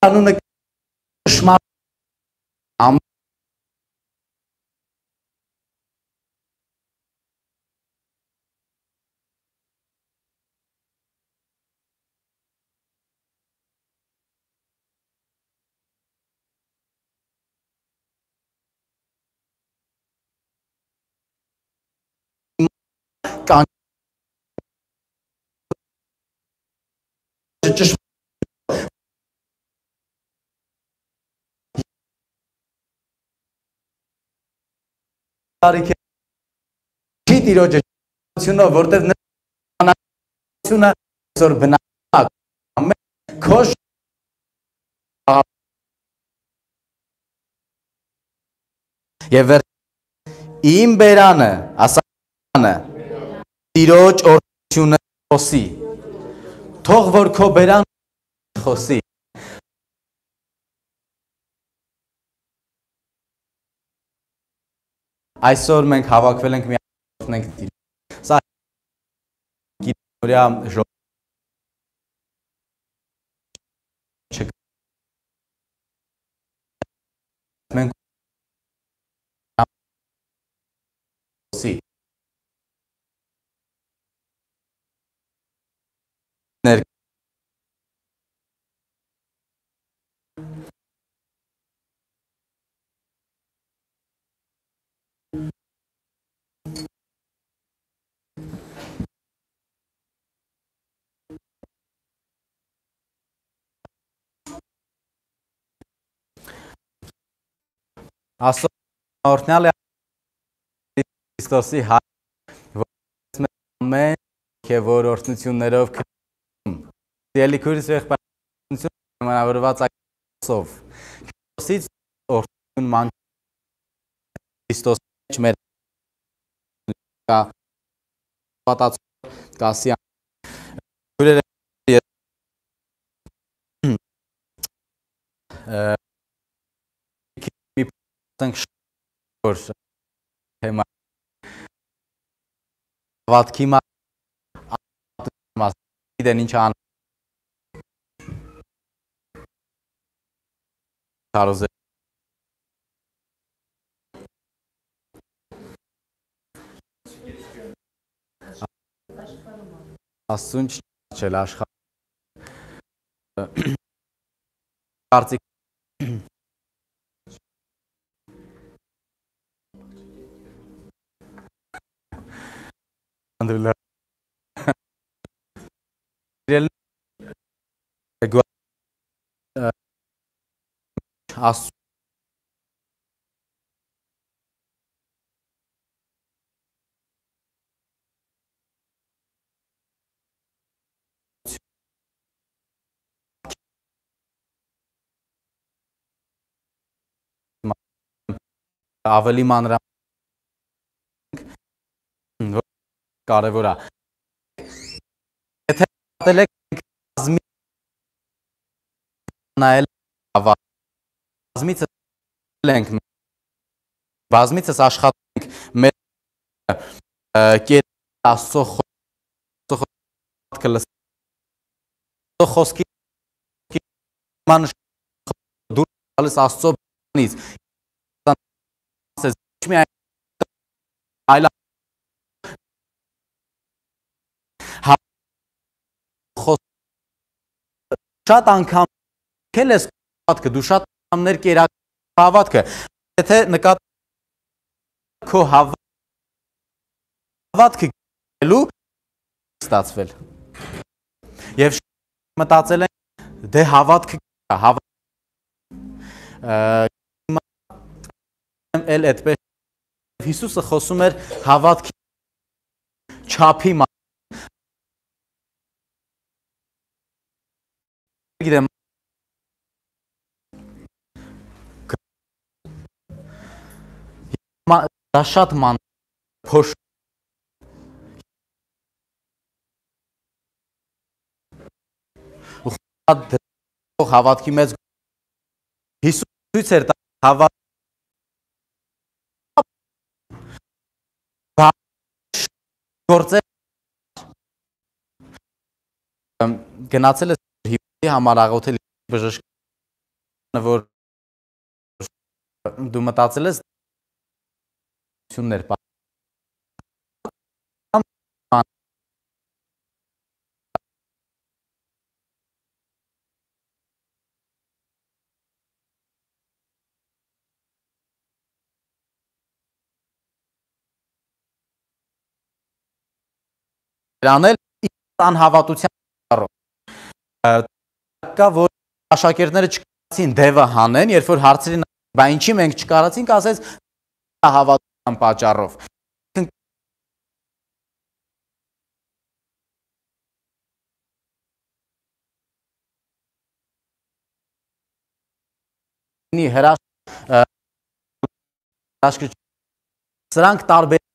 Անունը շմար կան տարիք չի տիրոջը ճշմարտությունով, որտեղ նշանակությունը այսօր բնական քոշ եւ իմ բերանը ասանը տիրոջ օրհնությունը խոսի թող որ քո բերան խոսի այսօր մենք հավաքվել ենք միասնենք սա գիտորյա մենք խոսի Աստծո օրհնյալ է Քրիստոսի հայր ամեն որ օրհնություններով Տելիքուրս եղբայրություն հնարավորված այսով Քրիստոսից օրհնություն ման Քրիստոս մեջ մեր պատածո կասի ուրերը որ թեմա հավատքի մասն ինչ ան կարոզե Աստուն չել աշխարհ կարծիք Անդրելա Աստու ավելի մանրամասն կարևոր է եթե պատել եք բազմի նայել բազմիցս աշխատենք մեր կետ Աստծո խոսքի դուր գալիս Աստծո բանից այլ շատ անգամ քել ես հավատքը դու շատ անգամներ կերակ հավատքը եթե նկատ քո հավատքը գելու ստացվել եւ մտածել են դե հավատքը էլ այդպես Հիսուսը խոսում էր հավատքի չափի գիտեմ դա շատ ման փոշ հավատքի մեծ Հիսուս ցույց էր տա հավատ գործել գնացել է հիվանդի համար աղոթել բժշկ որ դու մտածել ես անել անհավատության առով կա որ աշակերտները չկարողացին դևը հանեն, երբ որ հարցրին բա ինչի մենք չկարողացինք, ասեց հավատության պատճառով հրաշք սրանք տարբերից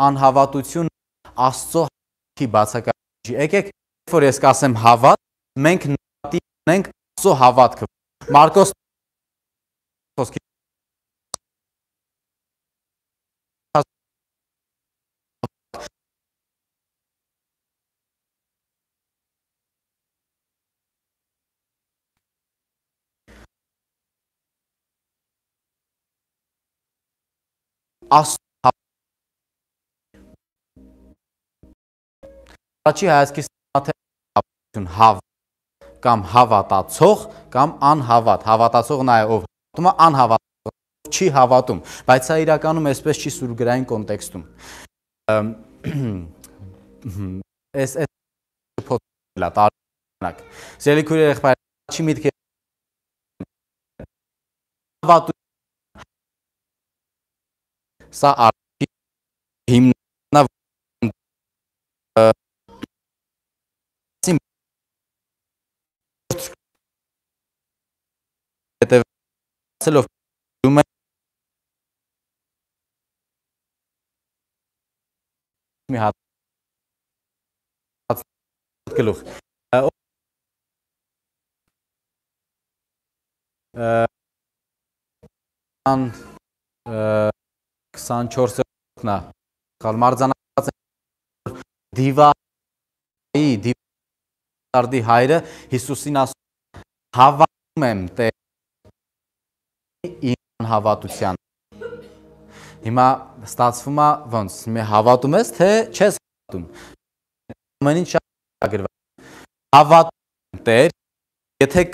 անհավատություն Աստծո հավատքի բացակայություն։ Եկեք, որ ես կասեմ հավատ, մենք նկատի ունենք Աստծո հավատքը։ Մարկոս Առաջի հայացքից հավատություն կամ հավատացող կամ անհավատ, հավատացող նա է ով հավատում է, անհավատացող չի հավատում, բայց սա իրականում այսպես չի սուրգրային կոնտեքստում։ Այս փոթորիկ է տարբերակ։ Սիրելի քույր եղբայր, չի միտք է հավատություն սա արդի հիմնանավ հետևելով դու մի հատ գլուխ 24-նա մարզանացած դիվարդի հայրը Հիսուսին ասում հավատում եմ Տեր իմ անհավատության։ Հիմա ստացվում է ոնց, մի հավատում ես, թե չես հավատում։ Ամեն ինչ գրված։ Հավատում եմ Տեր, եթե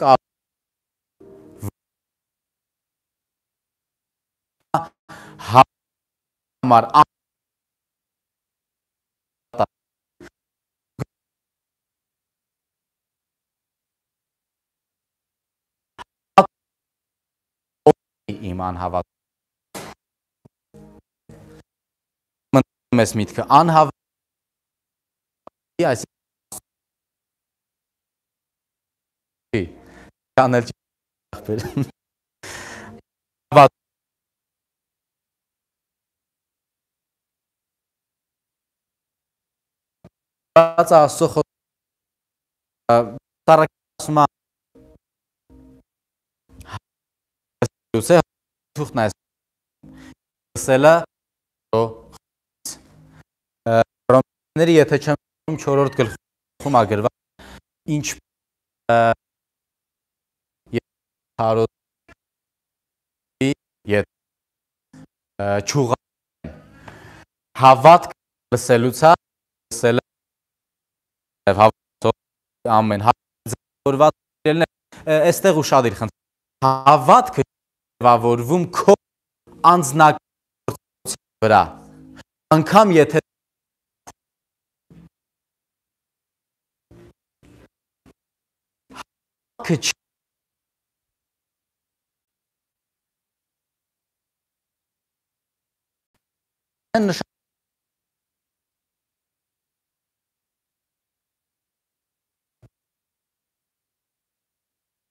համար իմ անհավատություն ես միտքը անհավատի Աստծո խոսքը թուղթն այս սելը ռոմաների եթե չեմ 4-րդ գլխում ագրված ինչ չուղա հավատք լսելուց լսելը ամեն հավատորված այստեղ ուշադիր խնդրեմ հավատքը ձևավորվում քո անձնագործության վրա անգամ եթե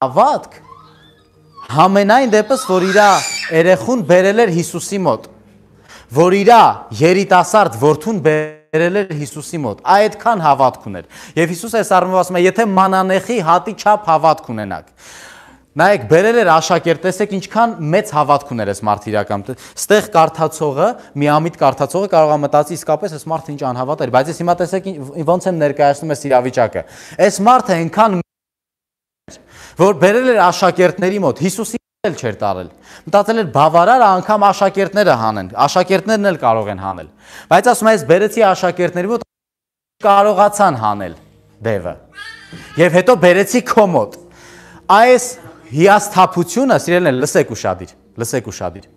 հավատք համենայն դեպս, որ իրա երեխուն բերել էր Հիսուսի մոտ, որ իրա երիտասարդ որդուն բերել էր Հիսուսի մոտ, այդքան հավատք ուներ։ Եվ Հիսուս այս առումով ասում է, եթե մանանեխի հատի չափ հավատք ունենաք, Նայեք, բերել էր աշակերտ, տեսեք ինչքան մեծ հավատք ուներ այս մարդը իրականում։ Ստեղ կարդացողը, միամիտ կարդացողը կարող է մտածի իսկապես այս մարդը ինչ անհավատ էր, բայց ես հիմա տեսեք ոնց եմ ներկայացնում այս իրավիճակը։ Այս մարդը այնքան որ բերել էր աշակերտների մոտ, Հիսուսի էլ չէր տարել։ Մտածել էր բավարար անգամ աշակերտները հանեն, աշակերտներն էլ կարող են հանել։ Բայց ասում է, ես բերեցի աշակերտների մոտ կարողացան հանել դևը։ Եվ հետո բերեցի քո մոտ։ Այս հիասթափությունը, սիրելիներ, լսեք ուշադիր։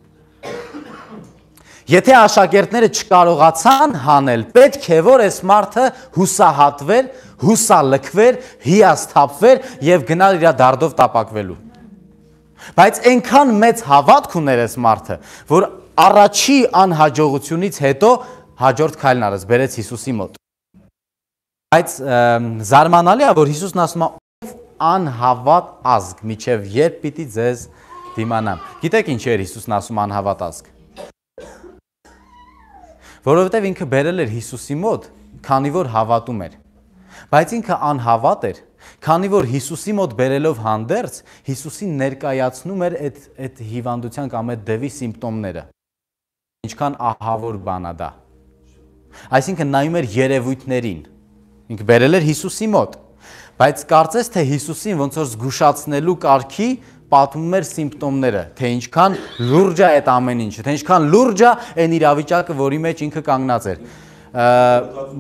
Եթե աշակերտները չկարողացան հանել, պետք է որ այս մարդը հուսահատվեր, հուսալքվեր, հիասթափվեր եւ գնալ իր դարդով տապակվելու։ Բայց այնքան մեծ հավատք ուներ այս մարդը, որ առաջի անհաջողությունից հետո հաջորդ քայլն արեց, բերեց Հիսուսի մոտ։ Բայց զարմանալի է, որ Հիսուսն ասում է, ով անհավատ ազգ, միջև երբ պիտի ձեզ դիմանամ։ Գիտեք ինչ էր Հիսուսն ասում անհավատ ազգ։ Որովհետև ինքը բերել էր Հիսուսի մոտ, քանի որ հավատում էր։ Բայց ինքը անհավատ էր, քանի որ Հիսուսի մոտ բերելով հանդերձ, Հիսուսին ներկայացնում էր այդ հիվանդության կամ այդ դևի սիմպտոմները։ Ինչքան ահավոր բան է դա։ Այսինքն նայում էր երևույթներին։ Ինքը բերել էր Հիսուսի մոտ, բայց կարծես թե Հիսուսին ոնց որ զգուշացնելու կարգի պատմում էր սիմպտոմները, թե ինչքան լուրջ է այդ ամեն ինչը, թե ինչքան լուրջ է այն իրավիճակը, որի մեջ ինքը կանգնած էր։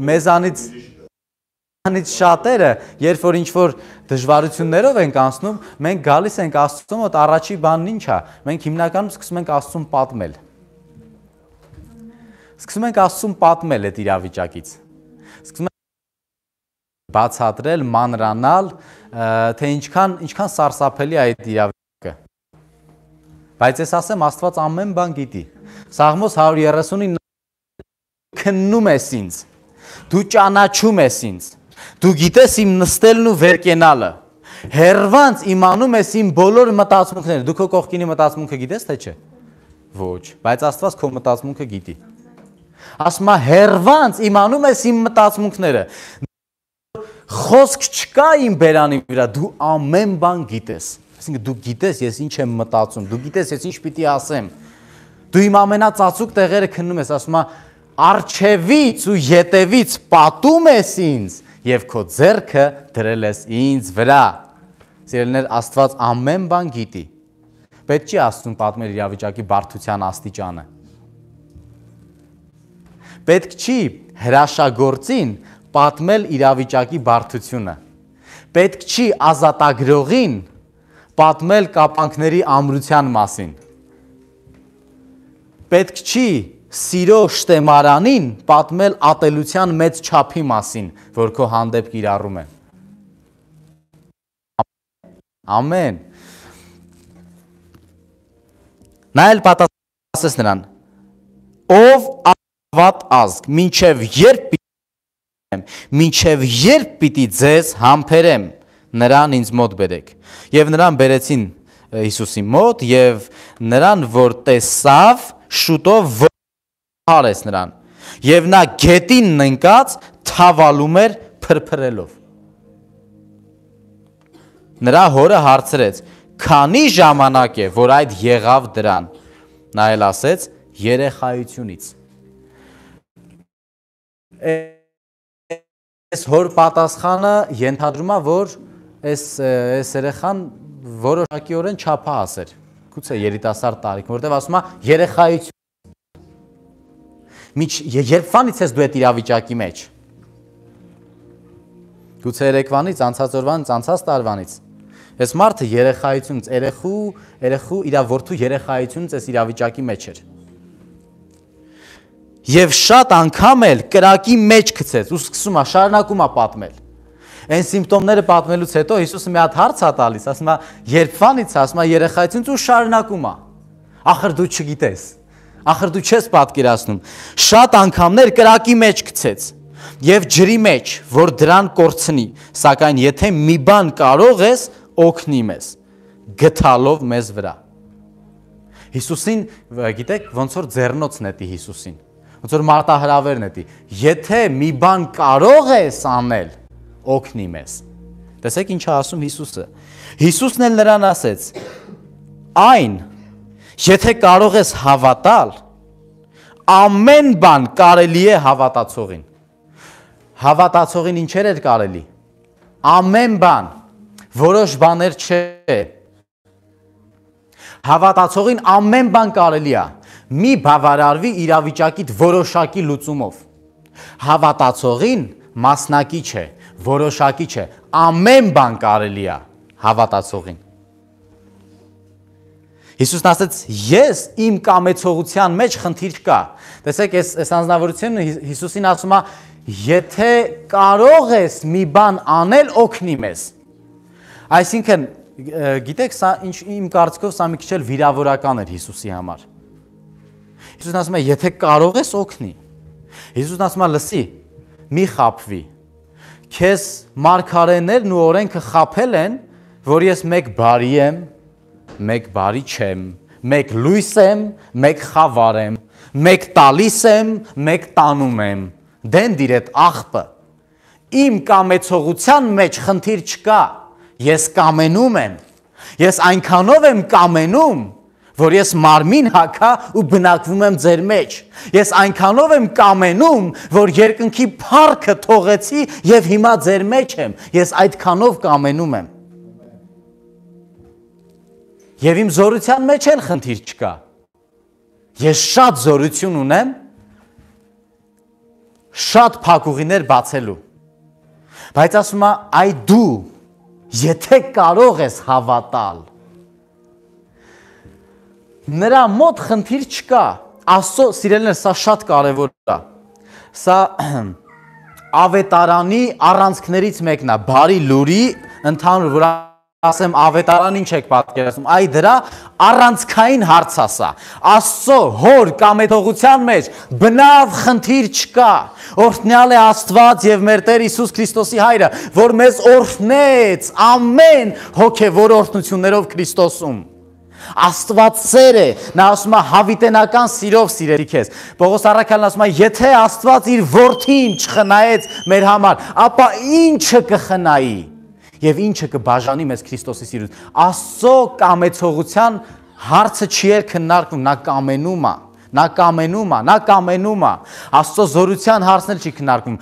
Մեզանից շատերը, երբ որ ինչ-որ դժվարություններով ենք անցնում, մենք գալիս ենք Աստծո մոտ, առաջի բանն ինչ է, մենք հիմնականում սկսում ենք Աստծուն պատմել։ Սկսում ենք Աստծուն պատմել այդ իրավիճակից։ Սկսում ենք բացատրել, մանրանալ, թե ինչքան սարսափելի է այդ իրավիճակը։ Բայց ես ասեմ, Աստված ամեն բան գիտի։ Սաղմոս 139 քննում ես ինձ, դու ճանաչում ես ինձ, դու գիտես իմ նստելն ու վեր կենալը, հեռվանց իմանում ես իմ բոլոր մտածմունքները, դու քո կողքինի մտածմունքը գիտես թե չէ։ Ոչ, բայց Աստված քո մտածմունքը գիտի։ Ասում է հեռվանց իմանում ես իմ մտածմունքները։ Խոսք չկա իմ բերանի վրա, դու ամեն բան գիտես։ Այսինքն դու գիտես ես ինչ եմ մտածում, դու գիտես ես ինչ պիտի ասեմ։ Դու իմ ամենածածուկ տեղերը քննում ես, ասում է արջևից ու ետևից պատում ես ինձ եւ քո ձեռքը դրել ես ինձ վրա։ Սիրելիներ, Աստված ամեն բան գիտի։ Պետք չի Աստծուն պատմել իրավիճակի բարդության աստիճանը։ Պետք չի հրաշագործին պատմել իրավիճակի բարդությունը։ Պետք չի ազատագրողին պատմել կապանքների ամրության մասին։ Պետք չի սիրո շտեմարանին պատմել ատելության մեծ չափի մասին, որ քո հանդեպ կիրառում է։ Ամեն։ Նա էլ պատասխանեց նրան. ով անհավատ ազգ, մինչև երբ պիտի ձեզ համբերեմ, նրան ինձ մոտ բերեք։ Եվ նրան բերեցին Հիսուսի մոտ, եւ նրան, որ տեսավ, շուտով հարեց նրան։ Եվ նա գետին ընկած թավալում էր փրփրելով։ Նրա հորը հարցրեց. քանի ժամանակ է, որ այդ եղավ դրան։ Նա էլ ասեց. երեխայությունից։ Այս հոր պատասխանը ենթադրում է, որ այս երեխան որոշակիորեն չափահաս էր, գուցե երիտասարդ տարիքում, որտեղ ասում է երեխայություն։ Երբվանից ես դու այդ իրավիճակի մեջ։ Գուցե երեկվանից, անցած օրվանից, անցած տարվանից։ Այս մարդը երեխայությունից, երեխու իր որդու երեխայությունից այս իրավիճակի մեջ էր։ Եվ շատ անգամ էլ կրակի մեջ գցեց ու սկսում է շարունակում է պատմել։ Այն սիմպտոմները պատմելուց հետո Հիսուսը մի հատ հարց է տալիս, ասում է երբվանից, ասում է երեխայությունից ու շարունակում է։ Ախր դու չգիտես, ախր դու չես պատկերացնում։ Շատ անգամներ կրակի մեջ գցեց եւ ջրի մեջ, որ դրան կորցնի, սակայն եթե մի բան կարող ես, օգնի մեզ, գթալով մեզ վրա։ Հիսուսին, գիտեք, ոնց որ ձեռնոց նետի Հիսուսին, ոնց որ մարտահրավեր նետի, եթե մի բան կարող ես անել, օգնի մեզ, Տեսեք ինչ է ասում Հիսուսը։ Հիսուսն էլ նրան ասեց. այն, եթե կարող ես հավատալ, ամեն բան կարելի է հավատացողին։ Հավատացողին ինչեր էր կարելի։ Ամեն բան, որոշ բաներ չէ։ Հավատացողին ամեն բան կարելի է։ Մի բավարարվի իրավիճակիդ որոշակի լուծումով։ Հավատացողին մասնակի չէ, որոշակի չէ, ամեն բան կարելի է հավատացողին։ Հիսուսն ասեց, ես իմ կամեցողության մեջ խնդիր չկա։ Տեսեք, այս անձնավորությունը Հիսուսին ասում է, եթե կարող ես մի բան անել, օգնի մեզ։ Այսինքն, գիտեք, սա իմ կարծիքով սա մի քիչ էլ վիրավորական էր Հիսուսի համար։ Հիսուսն ասում է, եթե կարող ես, օգնի։ Հիսուսն ասում է, լսի, մի խաբվի։ Քեզ մարգարեներն ու օրենքը խաբել են, որ ես մեկ բարի եմ, մեկ բարի չեմ, մեկ լույս եմ, մեկ խավար եմ, մեկ տալիս եմ, մեկ տանում եմ։ Դենդիր այդ աղբը։ Իմ կամեցողության մեջ խնդիր չկա։ Ես կամենում եմ։ Ես այնքանով եմ կամենում, որ ես մարմին հագա ու բնակվում եմ ձեր մեջ։ Ես այնքանով եմ կամենում, որ երկնքի փառքը թողեցի եւ հիմա ձեր մեջ եմ։ Ես այդքանով կամենում եմ։ Եվ իմ զորության մեջ էլ խնդիր չկա։ Ես շատ զորություն ունեմ, շատ փակուղիներ բացելու։ Բայց ասում է, այ դու, եթե կարող ես հավատալ, նրա մոտ խնդիր չկա։ Աստծո սիրելիներ, սա շատ կարևոր է։ Սա ավետարանի առանցքներից մեկն է, բարի լուրի ընդհանուր, որ ասեմ ավետարան ինչ եք պատկերացնում, այ դրա առանցքային հարց է սա։ Աստծո հոր կամեցողության մեջ բնավ խնդիր չկա։ Օրհնյալ է Աստված եւ մեր Տեր Հիսուս Քրիստոսի Հայրը, որ մեզ օրհնեց ամեն հոգեվոր օրհնություններով Քրիստոսում։ Աստված սեր է, նա ասում է հավիտենական սիրով սիրելի քեզ։ Պողոս առաքյալն ասում է, եթե Աստված իր որդին չխնայեց մեր համար, ապա ինչը կխնայի եւ ինչը կբաժանի մեզ Քրիստոսի սիրուց։ Աստծո կամեցողության հարցը չի քննարկվում, նա կամենում է, նա կամենում է, նա կամենում է։ Աստծո զորության հարցն էլ չի քննարկվում։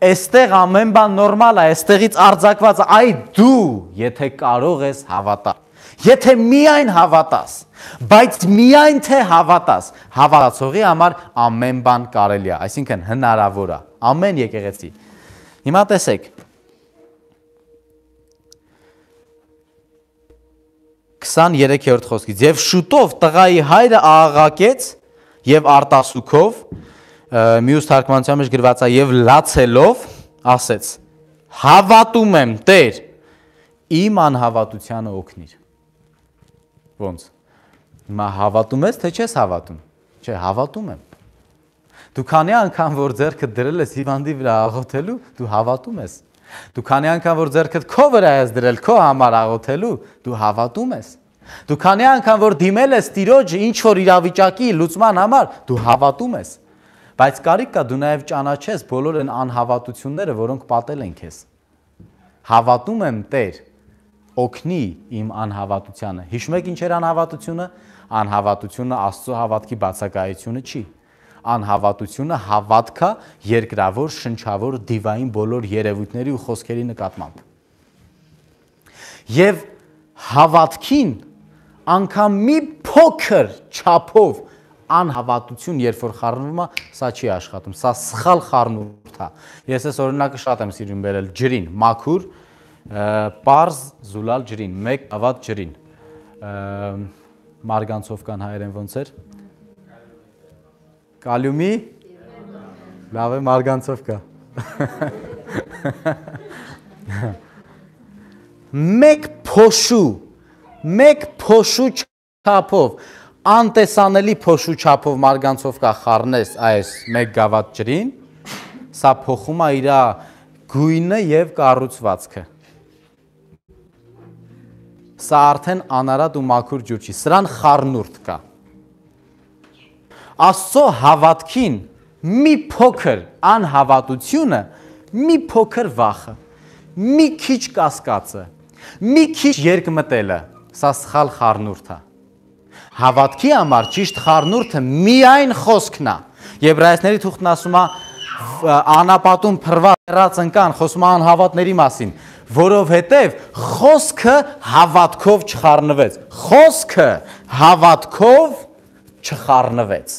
Այստեղ ամեն բան նորմալ է, այստեղից արձակված է, այ դու, եթե կարող ես հավատալ։ Եթե միայն հավատաս, բայց միայն թե հավատաս, հավատացողի համար ամեն բան կարելի է, այսինքն հնարավոր է, ամեն եկեղեցի։ Հիմա տեսեք, 23-րդ խոսքից, և շուտով տղայի հայրը աղաղակեց և արտասուքով, մյուս թարգմանության մեջ գրված է և լացելով, ասեց, հավատում եմ Տեր, իմ անհավատությանը օգնիր։ Ոնց, հիմա հավատում ես, թե չես հավատում, չէ, հավատում եմ։ Դու քանի անգամ, որ ձեռքդ դրել ես հիվանդի վրա աղոթելու, դու հավատում ես։ Դու քանի անգամ, որ ձեռքդ քո վրա ես դրել քո համար աղոթելու, դու հավատում ես։ Դու քանի անգամ, որ դիմել ես Տիրոջը ինչ-որ իրավիճակի լուծման համար, դու հավատում ես։ Բայց կարիք կա դու նաև ճանաչես բոլոր այն անհավատությունները, որոնք պատել են քեզ։ Հավատում եմ Տեր, օգնի իմ անհավատությանը։ Հիշում եք ինչ էր անհավատությունը։ Անհավատությունը Աստծո հավատքի բացակայությունը չի։ Անհավատությունը հավատքա երկրավոր, շնչավոր, դիվային բոլոր երևույթների ու խոսքերի նկատմամբ։ Եվ հավատքին անգամ մի փոքր չափով անհավատություն, երբ որ խառնվում է, սա չի աշխատում, սա սխալ խառնուրդ է։ Ես այս օրինակը շատ եմ սիրում բերել ջրին, մաքուր, պարզ զուլալ ջրին, մեկ ավատ ջրին։ Մարգանցովկան հայերեն ոնց էր։ Կալիումի, լավ է մարգանցովկա։ Մեկ փոշու չափով, անտեսանելի փոշու չափով մարգանցովկա խառնես այս մեկ գավաթ ջրին, սա փոխում է իր գույնը եւ կառուցվածքը։ Սա արդեն անարատ ու մաքուր ջուր չի, սրան խառնուրդ կա։ Աստծո հավատքին մի փոքր անհավատությունը, մի փոքր վախը, մի քիչ կասկածը, մի քիչ երկմտելը, սա սխալ խառնուրդ է։ Հավատքի համար ճիշտ խառնուրդը միայն խոսքն է։ Եբրայեցիների թուղթն ասում է անապատում փռված ընկան, խոսում է անհավատների մասին, որովհետև խոսքը հավատքով չխառնվեց։ Խոսքը հավատքով չխառնվեց։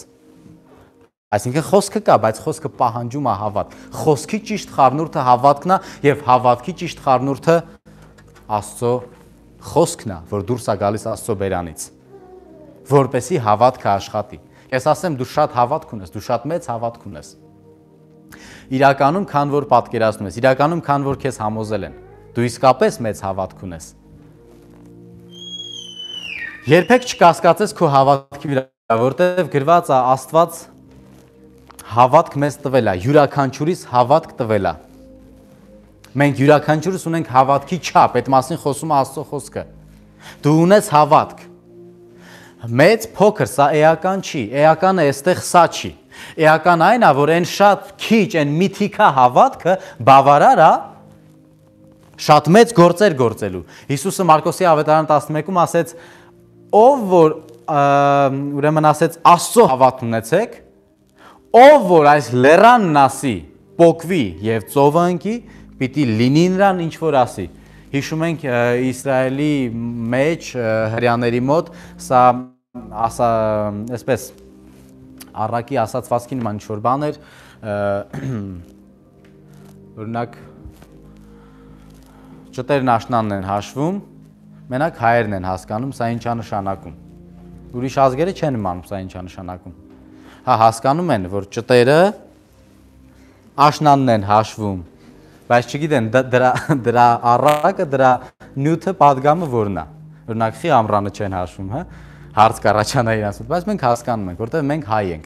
Այսինքն խոսքը կա, բայց խոսքը պահանջում է հավատ։ Խոսքի ճիշտ խառնուրդը հավատքն է եւ հավատքի ճիշտ խառնուրդը Աստծո խոսքն է, որ դուրս է գալիս Աստծո բերանից, որպեսի հավատքը աշխատի։ Ես ասեմ, դու շատ հավատք ունես, դու շատ մեծ հավատք ունես։ Իրականում, քան որ պատկերացնում ես, իրականում, քան որ քեզ համոզել են, դու իսկապես մեծ հավատք ունես։ Երբեք չկասկածես քո հավատքի վրա, որտեղ գրված է Աստված հավատք մեզ տվել է, յուրաքանչյուրիս հավատք տվել է։ Մենք յուրաքանչյուրս ունենք հավատքի չափ, այդ մասին խոսում է Աստծո խոսքը։ Դու ունես հավատք։ Մեծ փոքր, սա էական չի, էականը այստեղ սա չի։ Էական այն է, որ այն շատ քիչ, այն միթիկա հավատքը բավարար է շատ մեծ գործեր գործելու։ Հիսուսը Մարկոսի ավետարան 11-ում ասեց, ով որ ուրեմն ասեց Աստծո հավատ ունեցեք, ով որ այս լեռանն ասի, պոկվի եւ ծովը ընկի, պիտի լինի նրան ինչ որ ասի։ Հիշում ենք Իսրայելի մեջ հրյաների մոտ սա այսպես առակի ասացվածքի նման ինչ-որ բան էր, օրինակ ճտերն աշնանն են հաշվում, մենակ հայերն են հասկանում, սա ինչ է նշանակում։ Ուրիշ ազգերը չեն իմանում, սա ինչ է նշանակում։ Հա, հասկանում են, որ ճտերը աշնանն են հաշվում, բայց չգիտեն դրա առակը, դրա նյութը պատգամը որն է։ Օրինակ խի ամռանը չեն հաշվում, հա, հարց կառաջանա իրանց մոտ, բայց մենք հասկանում ենք, որտեղ մենք հայ ենք։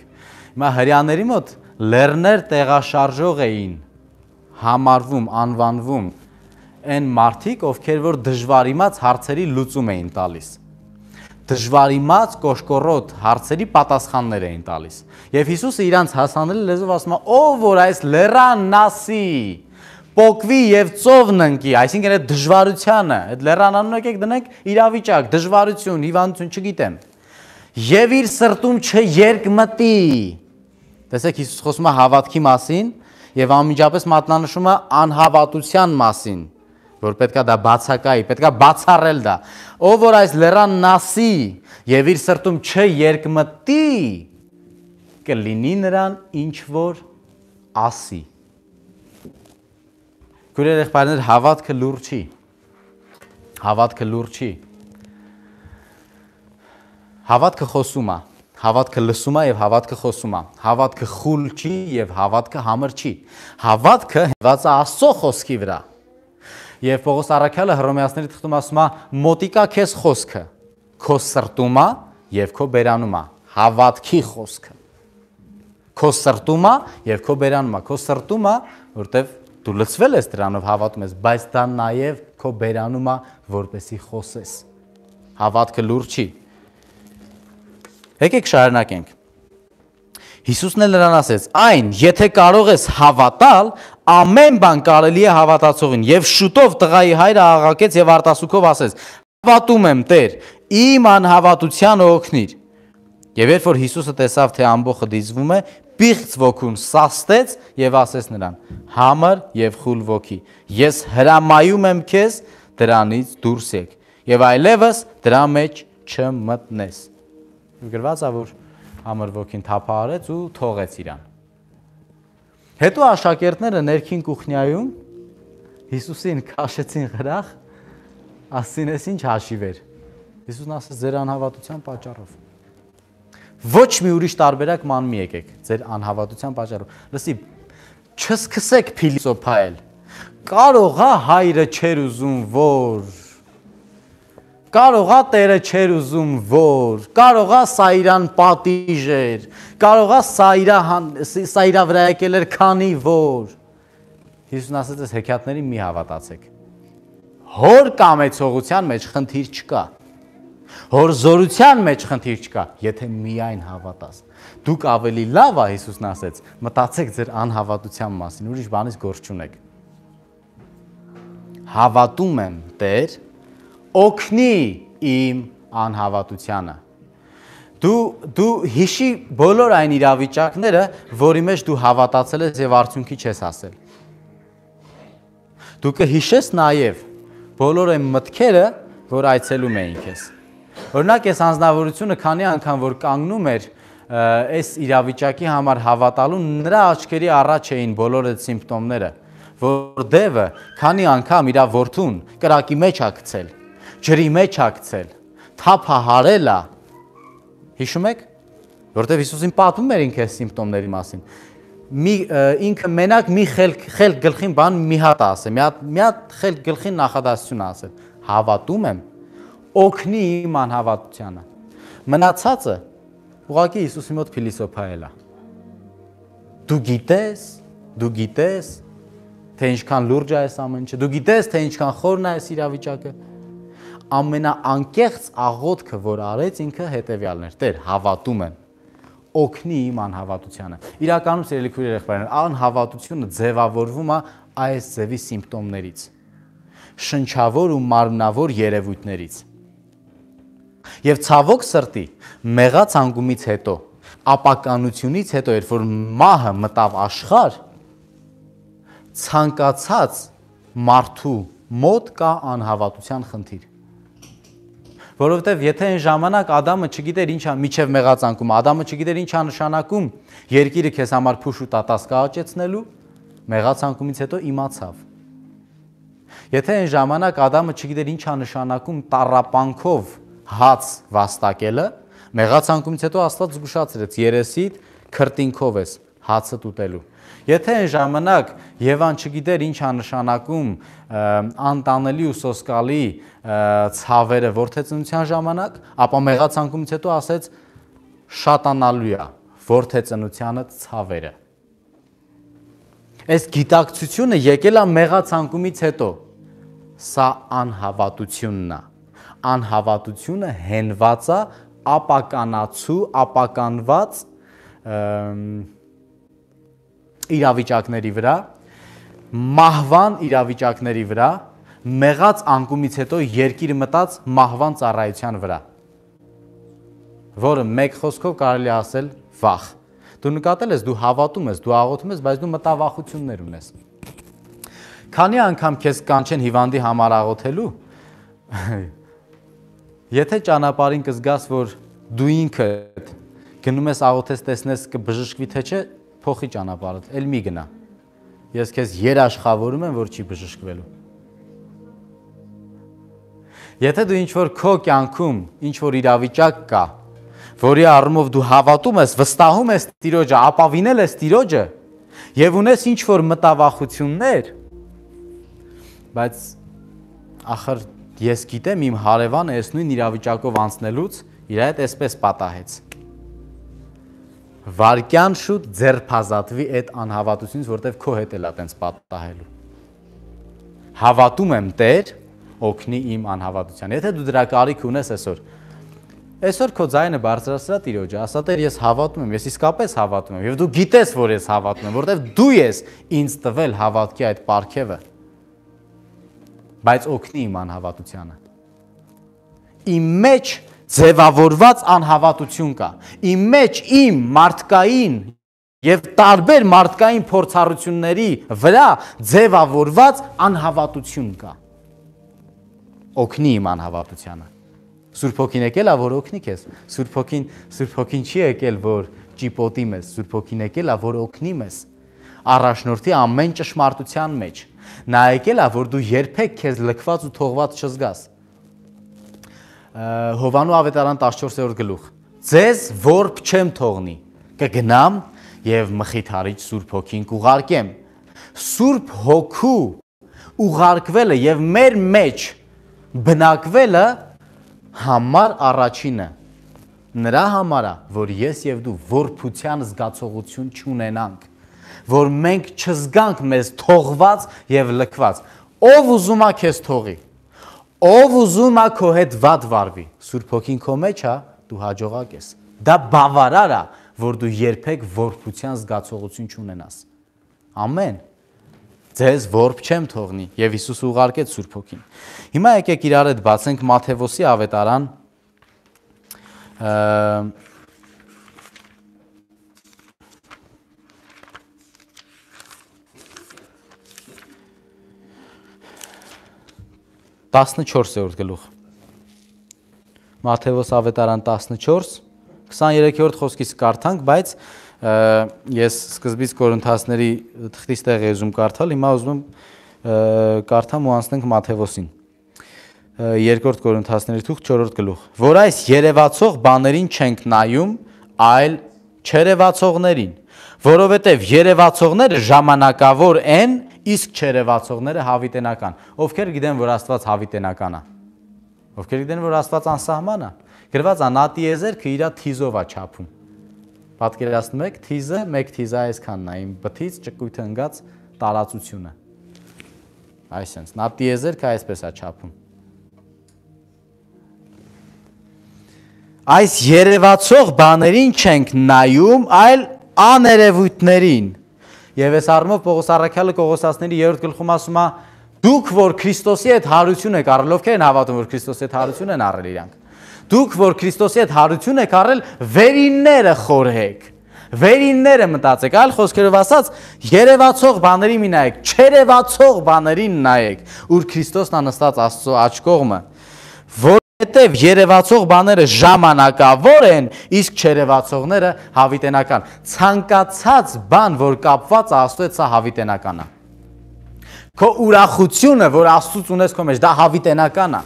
Հիմա հрьяաների մոտ լեռներ տեղաշարժող էին համարվում, անվանվում այն մարդիկ, ովքեր որ դժվարիմաց հարցերի լուծում էին տալիս։ Դժվարիմաց կոշկորոտ հարցերի պատասխաններ էին տալիս։ Եվ Հիսուսը իրանց հասանելի լեզվով ասում է, ով որ այս լեռանն ասի, պոկվի եւ ծովն ընկի, այսինքն այդ դժվարությանը, այդ լեռան եկեք դնենք իրավիճակ, դժվարություն, հիվանդություն, չգիտեմ։ Եվ իր սրտում չերկմտի։ Տեսեք, Հիսուս խոսում է հավատքի մասին եւ անմիջապես մատնանշում է անհավատության մասին, որ պետքա դա բացակայի, պետքա բացառել դա։ Ով որ այս լեռանն ասի եւ իր սրտում չերկմտի, կլինի նրան ինչ որ ասի։ Քույրեր եղբայրներ, հավատքը լուր չի։ Հավատքը լուր չի։ Հավատքը խոսում է, հավատքը լսում է եւ հավատքը խոսում է։ Հավատքը խուլ չի եւ հավատքը համր չի։ Հավատքը հենված է Աստծո խոսքի վրա։ Եվ Պողոս առաքյալը Հռոմեացիների թղթում ասում է. մոտիկա քեզ խոսքը, քո սրտում է եւ քո բերանում է։ Հավատքի խոսքը։ Քո սրտում է եւ քո բերանում է։ Քո սրտում է, որտեվ դու լցվել ես դրանով, հավատում ես, բայց դա նաև քո բերանում է, որպեսի խոսես։ Հավատքը լուր չի։ Եկեք շարունակենք։ Հիսուսն էլ նրան ասեց. այն, եթե կարող ես հավատալ, ամեն բան կարելի է հավատացողին։ Եվ շուտով տղայի հայրը աղաղակեց եւ արտասուքով ասեց. հավատում եմ, Տեր, իմ անհավատությանը օգնիր։ Եվ երբ որ Հիսուսը տեսավ, թե ամբողջը դիզվում է, պիղծ ոգուն սաստեց եւ ասեց նրան. համր եւ խուլ ոգի, ես հրամայում եմ քեզ դրանից դուրս եկ եւ այլևս դրա մեջ չմտնես։ Գրված է, որ համր ոգին թափահարեց ու թողեց իրան։ Հետո աշակերտները ներքին կուխնյայում Հիսուսին քաշեցին գրախ, ասին էս ինչ հաշիվ էր։ Հիսուսն ասաց ձեր անհավատության պատճառով։ Ոչ մի ուրիշ տարբերակ ման մի եկեք, ձեր անհավատության պատճառով։ Լսի, չսկսեք փիլիսոփայել։ Կարող է հայրը չեր ուզում, որ կարող է Տերը չեր ուզում, որ կարող է սա իրան պատիժ էր, կարող է սա իրա վրա եկել էր, քանի որ Հիսուսն ասաց, այս հեքիաթներին մի հավատացեք։ Հոր կամեցողության մեջ խնդիր չկա։ Հոր զորության մեջ խնդիր չկա, եթե միայն հավատաս։ Դուք ավելի լավ է, Հիսուսն ասեց, մտածեք ձեր անհավատության մասին, ուրիշ բանից գործ չունեք։ հավատում եմ Տեր, օգնի իմ անհավատությանը։ Դու հիշի բոլոր այն իրավիճակները, որի մեջ դու հավատացել ես եւ արդյունքի չես հասել։ Դու կհիշես նաեւ բոլոր այն մտքերը, որ այցելում էին քեզ։ Օրինակ, այս անձնավորությունը քանի անգամ որ կանգնում էր այս իրավիճակի համար հավատալու, նրա աչքերի առաջ էին բոլոր այդ սիմպտոմները, որ դևը քանի անգամ իր որդուն կրակի մեջ ա գցել, ջրի մեջ ա գցել, թափահարել է։ Հիշում եք, որտեղ Հիսուսին պատմում էր ինքը այս սիմպտոմների մասին։ Ինքը մենակ մի խելք գլխին բան մի հատ ասել, մի հատ խելք գլխին նախադասություն ասել, հավատում եմ, օգնի իմ անհավատությանը։ Մնացածը ուղղակի Հիսուսի մոտ փիլիսոփայել է։ Դու գիտես, թե ինչքան լուրջ է այս ամեն ինչը, դու գիտես, թե ինչքան խորն է այս իրավիճակը։ Ամենաանկեղծ աղոթքը, որ արեց ինքը հետևյալն էր. Տեր, հավատում եմ, օգնի իմ անհավատությանը։ Իրականում սիրելի քույրեր եղբայրներ, անհավատությունը ձևավորվում է այս ձևի սիմպտոմներից, շնչավոր ու մարմնավոր երևույթներից։ Եվ ցավոք սրտի, մեղած անկումից հետո, ապականությունից հետո, երբ որ մահը մտավ աշխարհ, ցանկացած մարդու մոտ կա անհավատության խնդիր։ Որովհետև եթե այն ժամանակ Ադամը չգիտեր ինչա միջև մեղածանկում, Ադամը չգիտեր ինչա նշանակում երկիրը քեզ համար փուշ ու տատաս կաճեցնելու, մեղածանկումից հետո իմացավ։ Եթե այն ժամանակ Ադամը չգիտեր ինչա նշանակում տառապանքով հաց վաստակելը, մեղածանկումից հետո Աստված զգուշացրեց երեսիդ քրտինքով ես հացը ուտելու։ Եթե այն ժամանակ Եվան չգիտեր ինչա նշանակում անտանելի ու սոսկալի ցավերը որդեծնության ժամանակ, ապա մեղածանկումից հետո ասեց շատանալու է որդեծնությանը ցավերը։ Այս գիտակցությունը եկել է մեղածանկումից հետո, սա անհավատությունն է։ Անհավատությունը հենված է ապականացու, ապականված իրավիճակների վրա, մահվան իրավիճակների վրա, մեղած անկումից հետո երկիրը մտած մահվան ծառայության վրա, որը մեկ խոսքով կարելի է ասել վախ։ Դու նկատել ես, դու հավատում ես, դու աղոթում ես, բայց դու մտավախություններ ունես։ Քանի անգամ քեզ կանչեն հիվանդի համար աղոթելու, եթե ճանապարհին կզգաս, որ դու ինքդ գնում ես աղոթես, տեսնես կբժշկվի թե չէ, փոխի ճանապարհդ, էլ մի գնա։ Ես քեզ երաշխավորում եմ, որ չի բժշկվելու։ Եթե դու ինչ-որ քո կյանքում ինչ-որ իրավիճակ կա, որի առումով դու հավատում ես, վստահում ես Տիրոջը, ապավինել ես Տիրոջը եւ ունես ինչ-որ մտավախություններ, բայց ախր ես գիտեմ իմ հարևանը այս նույն իրավիճակով անցնելուց իր հետ այսպես պատահեց։ Վարկյան շուտ ձերբազատվի այդ անհավատությունից, որտեվ քո հետ էլ է տենց պատահելու։ Հավատում եմ Տեր, օգնի իմ անհավատության։ Եթե դու դրա կարիք ունես այսօր քո ձայնը բարձրացրա Տիրոջը, ասա Տեր, ես հավատում եմ, ես իսկապես հավատում եմ, եւ դու գիտես, որ ես հավատում եմ, որտեվ դու ես ինձ տվել հավատքի այդ պարգևը, բայց օգնի իմ անհավատությանը։ Իմ մեջ ձևավորված անհավատություն կա։ Իմ մեջ իմ մարդկային եւ տարբեր մարդկային փորձառությունների վրա ձևավորված անհավատություն կա։ Օգնի իմ անհավատությանը։ Սուրբ Հոգին եկել է, որ օգնի քեզ։ Սուրբ Հոգին չի եկել, որ ճիպոտի մեզ, Սուրբ Հոգին եկել է, որ օգնի մեզ։ Առաջնորդի ամեն ճշմարտության մեջ։ Նա եկել է, որ դու երբեք քեզ լքված ու թողված չզգաս։ Հովանու ավետարան 14-րդ գլուխ։ Ձեզ որբ չեմ թողնի, կգնամ եւ մխիթարիչ Սուրբ Հոգին կուղարկեմ։ Սուրբ Հոգու ուղարկվելը եւ մեր մեջ բնակվելը համար առաջինը նրա համար է, որ ես եւ դու որբության զգացողություն չունենանք, որ մենք չզգանք մեզ թողված եւ լքված։ Ով ուզում է քեզ թողի, ով ուզում է քո հետ վատ վարվի, Սուրբ Հոգին քո մեջ է, դու հաջողակ ես։ Դա բավարար է, որ դու երբեք որբության զգացողություն չունենաս։ Ամեն։ ձեզ որբ չեմ թողնի, եւ Հիսուս ուղարկեց Սուրբ Հոգին։ Հիմա եկեք իրար հետ բացենք Մատթեոսի ավետարան 14-րդ գլուխ։ Մատթեոս ավետարան 14, 23-րդ խոսքից կարդանք, բայց ես սկզբից Կորինթացների թղթից տեղ եզում կարդալ, հիմա ուզում եմ կարդամ ու անցնենք Մատթեոսին։ 2 Կորինթացների թուղթ 4-րդ գլուխ։ Որ այս երևացող բաներին չենք նայում, այլ չերևացողներին, որովհետև երևացողները ժամանակավոր են, իսկ չերևացողները հավիտենական։ Ովքեր գիտեն, որ Աստված հավիտենական է։ Ովքեր գիտեն, որ Աստված անսահման է։ Գրված է նա տիեզերքը իր թիզով է չափում։ Պատկերացնում եք, թիզը 1 թիզ է այսքանն է, իմ բթից ճկույթը ընկած տարածությունը։ Այսինքն, նա տիեզերքը այսպես է չափում։ Այս երևացող բաներին չենք նայում, այլ աներևույթներին։ Եվ այս առումով Պողոս առաքյալը Կողոսացիների 3-րդ գլխում ասում է. դուք որ Քրիստոսի հետ հարություն եք առել, ովքեր են հավատում, որ Քրիստոսի հետ հարություն են առել իրանք։ Դուք որ Քրիստոսի հետ հարություն եք առել, վերինները խորհեք։ Վերինները մտածեք, այլ խոսքերով ասած, երևացող բաների մի նայեք, չերևացող բաներին նայեք, ուր Քրիստոսն է նստած Աստծո աջ կողմը, որովհետև երևացող բաները ժամանակավոր են, իսկ չերևացողները հավիտենական։ Ցանկացած բան, որ կապված է Աստծո հետ, սա հավիտենական է։ Քո ուրախությունը, որ Աստծուց ունես քո մեջ, դա հավիտենական է։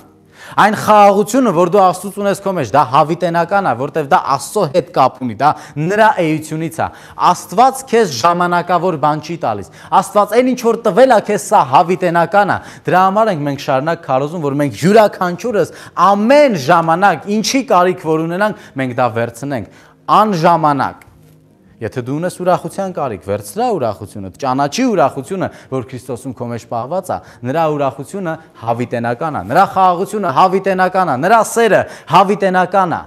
Այն խաղաղությունը, որ դու Աստծուց ունես քո մեջ, դա հավիտենական է, որտեղ դա Աստծո հետ կապ ունի, դա նրա էությունից է։ Աստված քեզ ժամանակավոր բան չի տալիս։ Աստված այն ինչ որ տվել է քեզ, սա հավիտենական է։ Դրա համար ենք մենք շարունակ քարոզում, որ մենք յուրաքանչյուրս ամեն ժամանակ ինչի կարիք որ ունենանք, մենք դա վերցնենք անժամանակ։ Եթե դու ունես ուրախության կարիք, վերցրա ուրախությունը, ճանաչի ուրախությունը, որ Քրիստոսում քո մեջ պահված է, նրա ուրախությունը հավիտենական է, նրա խաղաղությունը հավիտենական է, նրա սերը հավիտենական է,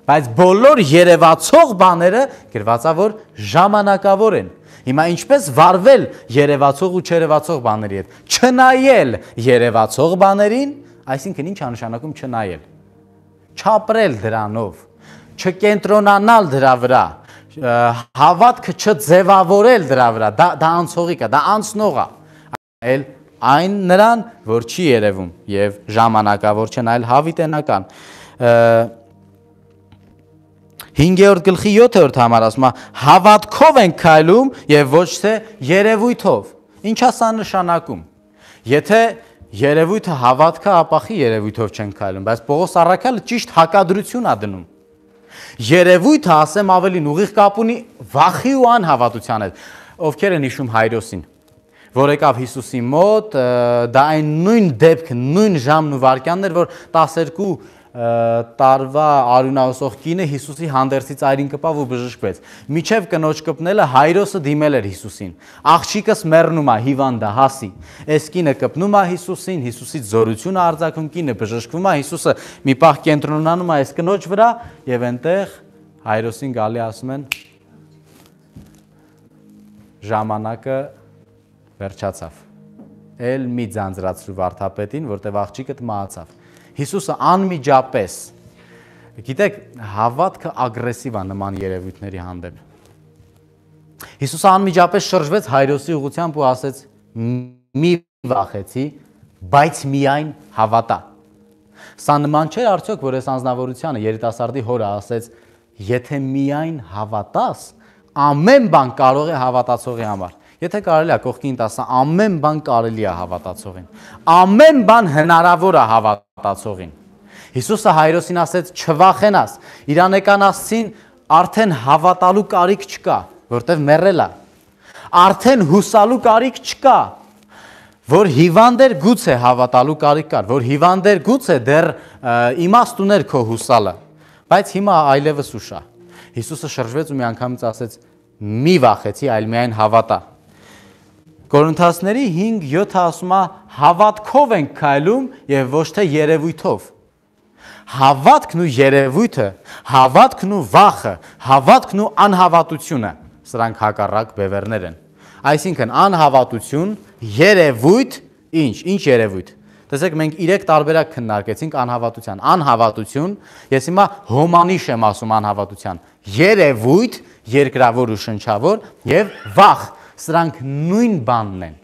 բայց բոլոր երևացող բաները գրված է, որ ժամանակավոր են։ Հիմա ինչպես վարվել երևացող ու չերևացող բաների հետ, չնայել երևացող բաներին, այսինքն ինչ է նշանակում չնայել, չապրել դրանով, չկենտրոնանալ դրա վրա, հավատքը չձևավորել դրա վրա, դա անցողիկ է, դա անցնող է, այն նրան, որ չի երևում և ժամանակավոր չն, այլ հավիտենական։ 5-րդ գլխի 7-րդ համար ասում է, հավատքով ենք քայլում և ոչ թե երևույթով։ Ինչ է սա նշանակում։ Եթե երևույթը հավատքը, ապա երևույթով չենք քայլում, բայց Պողոս առաքյալը ճիշտ հակադրություն է դնում։ Երևույթը, ասեմ ավելին, ուղիղ կապ ունի վախի ու անհավատության հետ։ Ովքեր են հիշում Հայրոսին, որ եկավ Հիսուսի մոտ, դա այն նույն դեպքը, նույն ժամն ու վայրկյանն էր, որ 12 տարվա արյունահոսող կինը Հիսուսի հանդերձի ծայրին կպավ ու բժշկվեց։ Միջև կնոջ կպնելը Հայրոսը դիմել էր Հիսուսին։ Աղջիկս մեռնում է, հիվանդ է, հասի։ Այս կինը կպնում է Հիսուսին, Հիսուսից զորություն է արձակում, կինը բժշկվում է, Հիսուսը մի պահ կենտրոնանում է այս կնոջ վրա եւ այնտեղ Հայրոսին գալի ասում են ժամանակը վերջացավ։ Էլ մի ձանձրացրու վարդապետին, որտեղ աղջիկդ մահացավ։ Հիսուսը անմիջապես, գիտեք, հավատքը ագրեսիվ է նման երևույթների հանդեպ։ Հիսուսը անմիջապես շրջվեց Հայրոսի ուղղությամբ ու ասեց. մի վախեցի, բայց միայն հավատա։ Սա նման չէ արդյոք, որ այս անձնավորությանը երիտասարդի հորը ասեց. եթե միայն հավատաս, ամեն բան կարող է հավատացողի համար։ Եթե կարելի է կողքին տասը, ամեն բան կարելի է հավատացողին։ Ամեն բան հնարավոր է հավատացողին։ Հիսուսը Հայրոսին ասեց չվախենաս, իրանեկան ասցին արդեն հավատալու կարիք չկա, որտև մեռել է։ Արդեն հուսալու կարիք չկա, որ հիվանդ էր գուցե հավատալու կարիք կար, որ հիվանդ էր գուցե դեռ իմաստ ուներ քո հուսալը, բայց հիմա այլևս ուշ է։ Հիսուսը շրջվեց ու միանգամից ասեց մի վախեցի, այլ միայն հավատա։ Կորինթացիների 5:7 ասում է հավատքով ենք քայլում եւ ոչ թե երևույթով։ Հավատքն ու երևույթը, հավատքն ու վախը, հավատքն ու անհավատությունը, սրանք հակառակ բևեռներ են։ Այսինքն անհավատություն երևույթ, ինչ երևույթ։ Տեսեք, մենք 3 տարբերակ քննարկեցինք անհավատության։ Անհավատություն, ես հիմա հոմանիշ եմ ասում անհավատության։ Երևույթ, երկրավոր ու շնչավոր եւ վախ, սրանք նույն բանն են։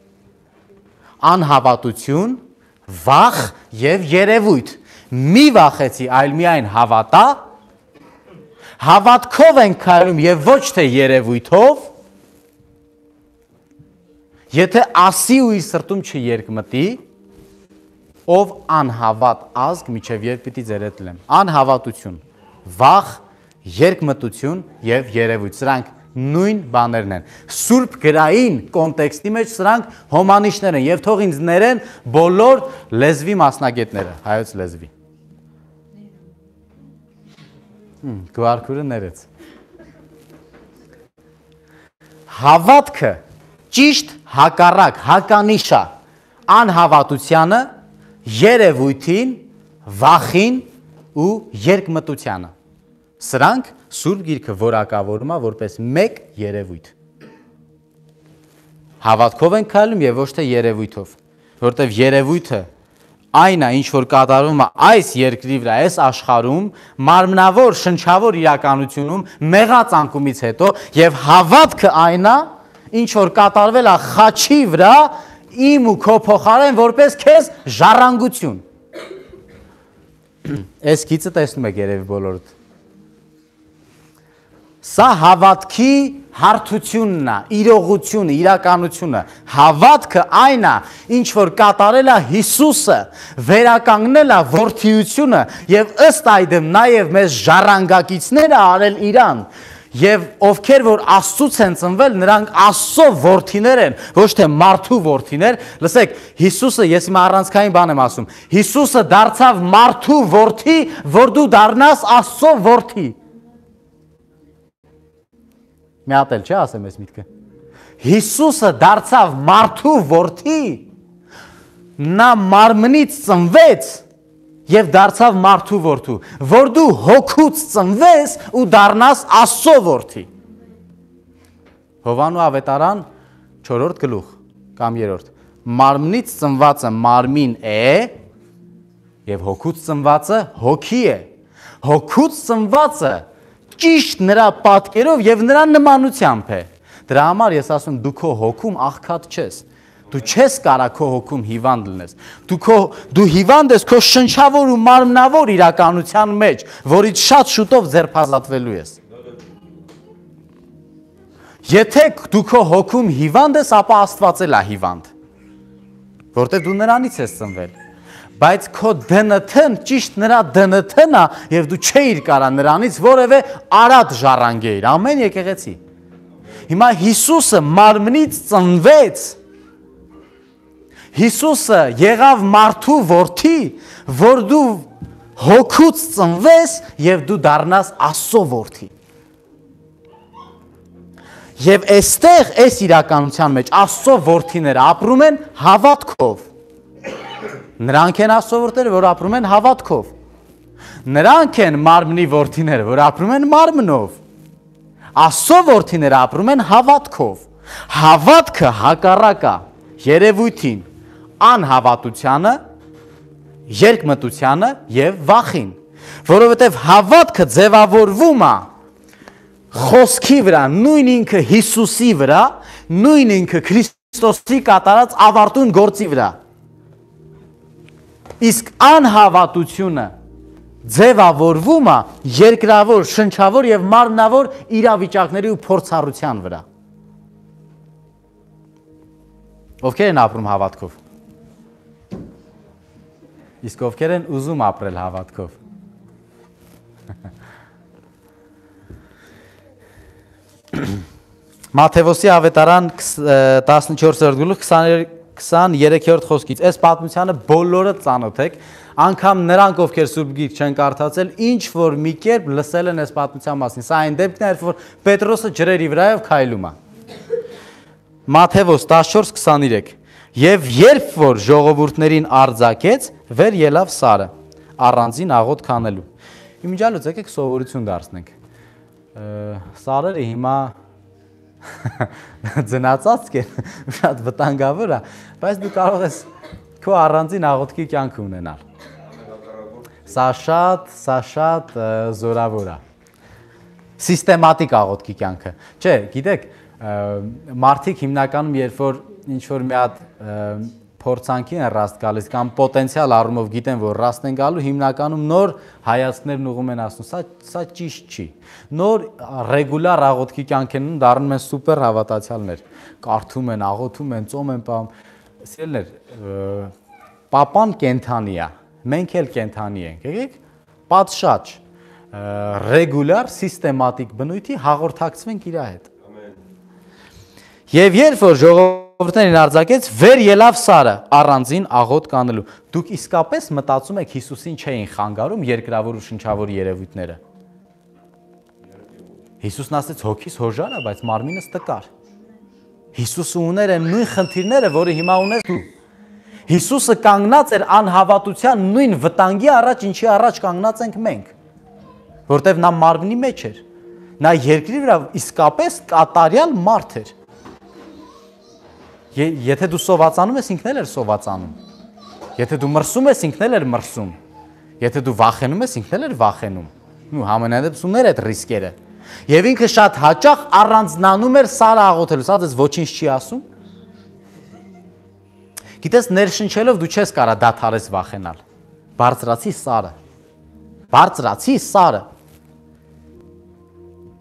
Անհավատություն, վախ եւ երևույթ։ Մի վախեցի, այլ միայն հավատա, հավատքով ենք քայլում եւ ոչ թե երևույթով։ Եթե ասի ու իր սրտում չերկմտի, ով անհավատ ազգ միջև երբ պիտի ձեր հետ լեմ։ Անհավատություն, վախ, երկմտություն եւ երևույթ, սրանք նույն բաներն են։ Սուրբ գրային կոնտեքստի մեջ սրանք հոմանիշներ են եւ թող ինձ ներեն բոլոր լեզվի մասնագետները, հայոց լեզվի։ Գվարքուրը ներեց։ Հավատքը ճիշտ հակառակ, հականիշա անհավատությանը, երևույթին, վախին ու երկմտությանը։ Սրանք Սուրբ Գիրքը որակավորում է որպես մեկ երևույթ։ Հավատքով ենք քայլում եւ ոչ թե երևույթով, որտեւ երևույթը այն է, ինչ որ կատարվում է այս երկրի վրա, այս աշխարհում, մարմնավոր, շնչավոր իրականությունում, մեղածանկումից հետո եւ հավատքը այն է, ինչ որ կատարվել է խաչի վրա, իմ ու քո փոխարեն որպես քեզ ժառանգություն։ Այս գիծը տեսնում եք երևի բոլորդ։ Սա հավատքի հարթությունն է, իրողությունը, իրականությունը։ Հավատքը այն է, ինչ որ կատարել է Հիսուսը, վերականգնել է որդիությունը եւ ըստ այդմ նաեւ մեզ ժառանգակիցները արել իրան։ Եվ ովքեր որ Աստծուց են ծնվել, նրանք Աստծո որդիներ են, ոչ թե մարդու որդիներ։ Լսեք, Հիսուսը, ես հիմա առանցքային բան եմ ասում, Հիսուսը դարձավ մարդու որդի, որ դու դառնաս Աստծո որդի։ Մի հատ էլ չէ ասեմ այս միտքը։ Հիսուսը դարձավ մարդու որդի, նա մարմնից ծնվեց եւ դարձավ մարդու որդու, որ դու հոգուց ծնվես ու դառնաս Աստծո որդի։ Հովանու ավետարան 4-րդ գլուխ կամ 3-րդ։ Մարմնից ծնվածը մարմին է եւ հոգուց ծնվածը հոգի է։ Հոգուց ծնվածը ճիշտ նրա պատկերով եւ նրա նմանությամբ է։ Դրա համար ես ասում դու քո հոգում աղքատ չես։ Դու չես կարա քո հոգում հիվանդ լինես։ Դու հիվանդ ես քո շնչավոր ու մարմնավոր իրականության մեջ, որից շատ շուտով ձերբազատվելու ես։ Եթե դու քո հոգում հիվանդ ես, ապա Աստված էլ է հիվանդ, որտեղ դու նրանից ես ծնվել։ Բայց քո ԴՆԹ-ն ճիշտ նրա ԴՆԹ-ն է եւ դու չէիր կարա նրանից որևէ արատ ժառանգեիր։ Ամեն եկեղեցի։ Հիմա Հիսուսը մարմնից ծնվեց։ Հիսուսը եղավ մարդու որդի, որ դու հոգուց ծնվես եւ դու դառնաս Աստծո որդի։ Եվ այստեղ այս իրականության մեջ Աստծո որդիները ապրում են հավատքով։ Նրանք են Աստծո որդիները, որ ապրում են հավատքով։ Նրանք են մարմնի որդիները, որ ապրում են մարմնով։ Աստծո որդիները ապրում են հավատքով։ Հավատքը հակառակ է երևույթին, անհավատությանը, երկմտությանը եւ վախին, որովհետեւ հավատքը ձևավորվում է խոսքի վրա, նույն ինքը Հիսուսի վրա, նույն ինքը Քրիստոսի կատարած ավարտուն գործի վրա։ Իսկ անհավատությունը ձևավորվում է երկրավոր, շնչավոր եւ մարմնավոր իրավիճակների ու փորձառության վրա։ Ովքեր են ապրում հավատքով։ Իսկ ովքեր են ուզում ապրել հավատքով։ Մատթեոսի ավետարան 14-րդ գլուխ 23-րդ խոսքից։ Այս պատմությանը բոլորը ծանոթ եք, անգամ նրանք, ովքեր Սուրբ Գիրք չեն կարդացել, ինչ որ մի կերպ լսել են այս պատմության մասին։ Սա այն դեպքն է, որ Պետրոսը ջրերի վրայով քայլում է։ Մատթեոս 14:23 Եվ երբ որ ժողովուրդներին արձակեց, վեր ելավ Սարը, առանձին աղոտ քանելու։ Իմիջիալոց եկեք սովորություն դարձնենք։ Սարերը հիմա ձնացած կեն, շատ վտանգավոր է, բայց դու կարող ես քո առանձին աղոթքի կյանք ունենալ։ Սա շատ զորավոր է։ Սիստեմատիկ աղոթքի կյանքը։ Չէ, գիտեք, մարդիկ հիմնականում երբ որ ինչ-որ մի հատ փորձանքի են ռաստ գալիս կամ պոտենցիալ առումով գիտեն, որ ռաստ են գալու, հիմնականում նոր հայացքներն ուղում են ասում, սա ճիշտ չի։ Նոր ռեգուլար աղոթքի կյանք են դառնում են սուպեր հավատացյալներ։ Կարդում են, աղոթում են, ծոմ են պահում։ Սիրելիներ, պապան կենթանի է, մենք էլ կենթանի ենք, եկեք, պատշաճ, ռեգուլար, սիստեմատիկ բնույթի հաղորդակցվենք իր հետ։ Եվ երբ որ ժողովուրդներին արձակեց, վեր ելավ Սարը առանձին աղոթ կանելու։ Դուք իսկապես մտածում եք Հիսուսին չէին խանգարում երկրավոր ու շնչավոր երևույթները։ Հիսուսն ասեց հոգիս հոժար է, բայց մարմինս տկար։ Հիսուսը ուներ այն նույն խնդիրները, որը հիմա ունես դու։ Հիսուսը կանգնած էր անհավատության նույն վտանգի առաջ, ինչի առաջ կանգնած ենք մենք, որտեղ նա մարմնի մեջ էր։ Նա երկրի վրա իսկապես կատարյալ մարդ էր։ Եթե դու սովածանում ես, ինքն էլ էր սովածանում։ Եթե դու մրսում ես, ինքն էլ էր մրսում։ Եթե դու վախենում ես, ինքն էլ էր վախենում։ Ու համենայնդեպս ուներ այդ ռիսկերը։ Եվ ինքը շատ հաճախ առանձնանում էր Սարը աղոթելու, սա դες ոչինչ չի ասում։ Գիտես, ներշնչելով դու չես կարա դադարես վախենալ։ Բարձրացի Սարը։ Բարձրացի Սարը։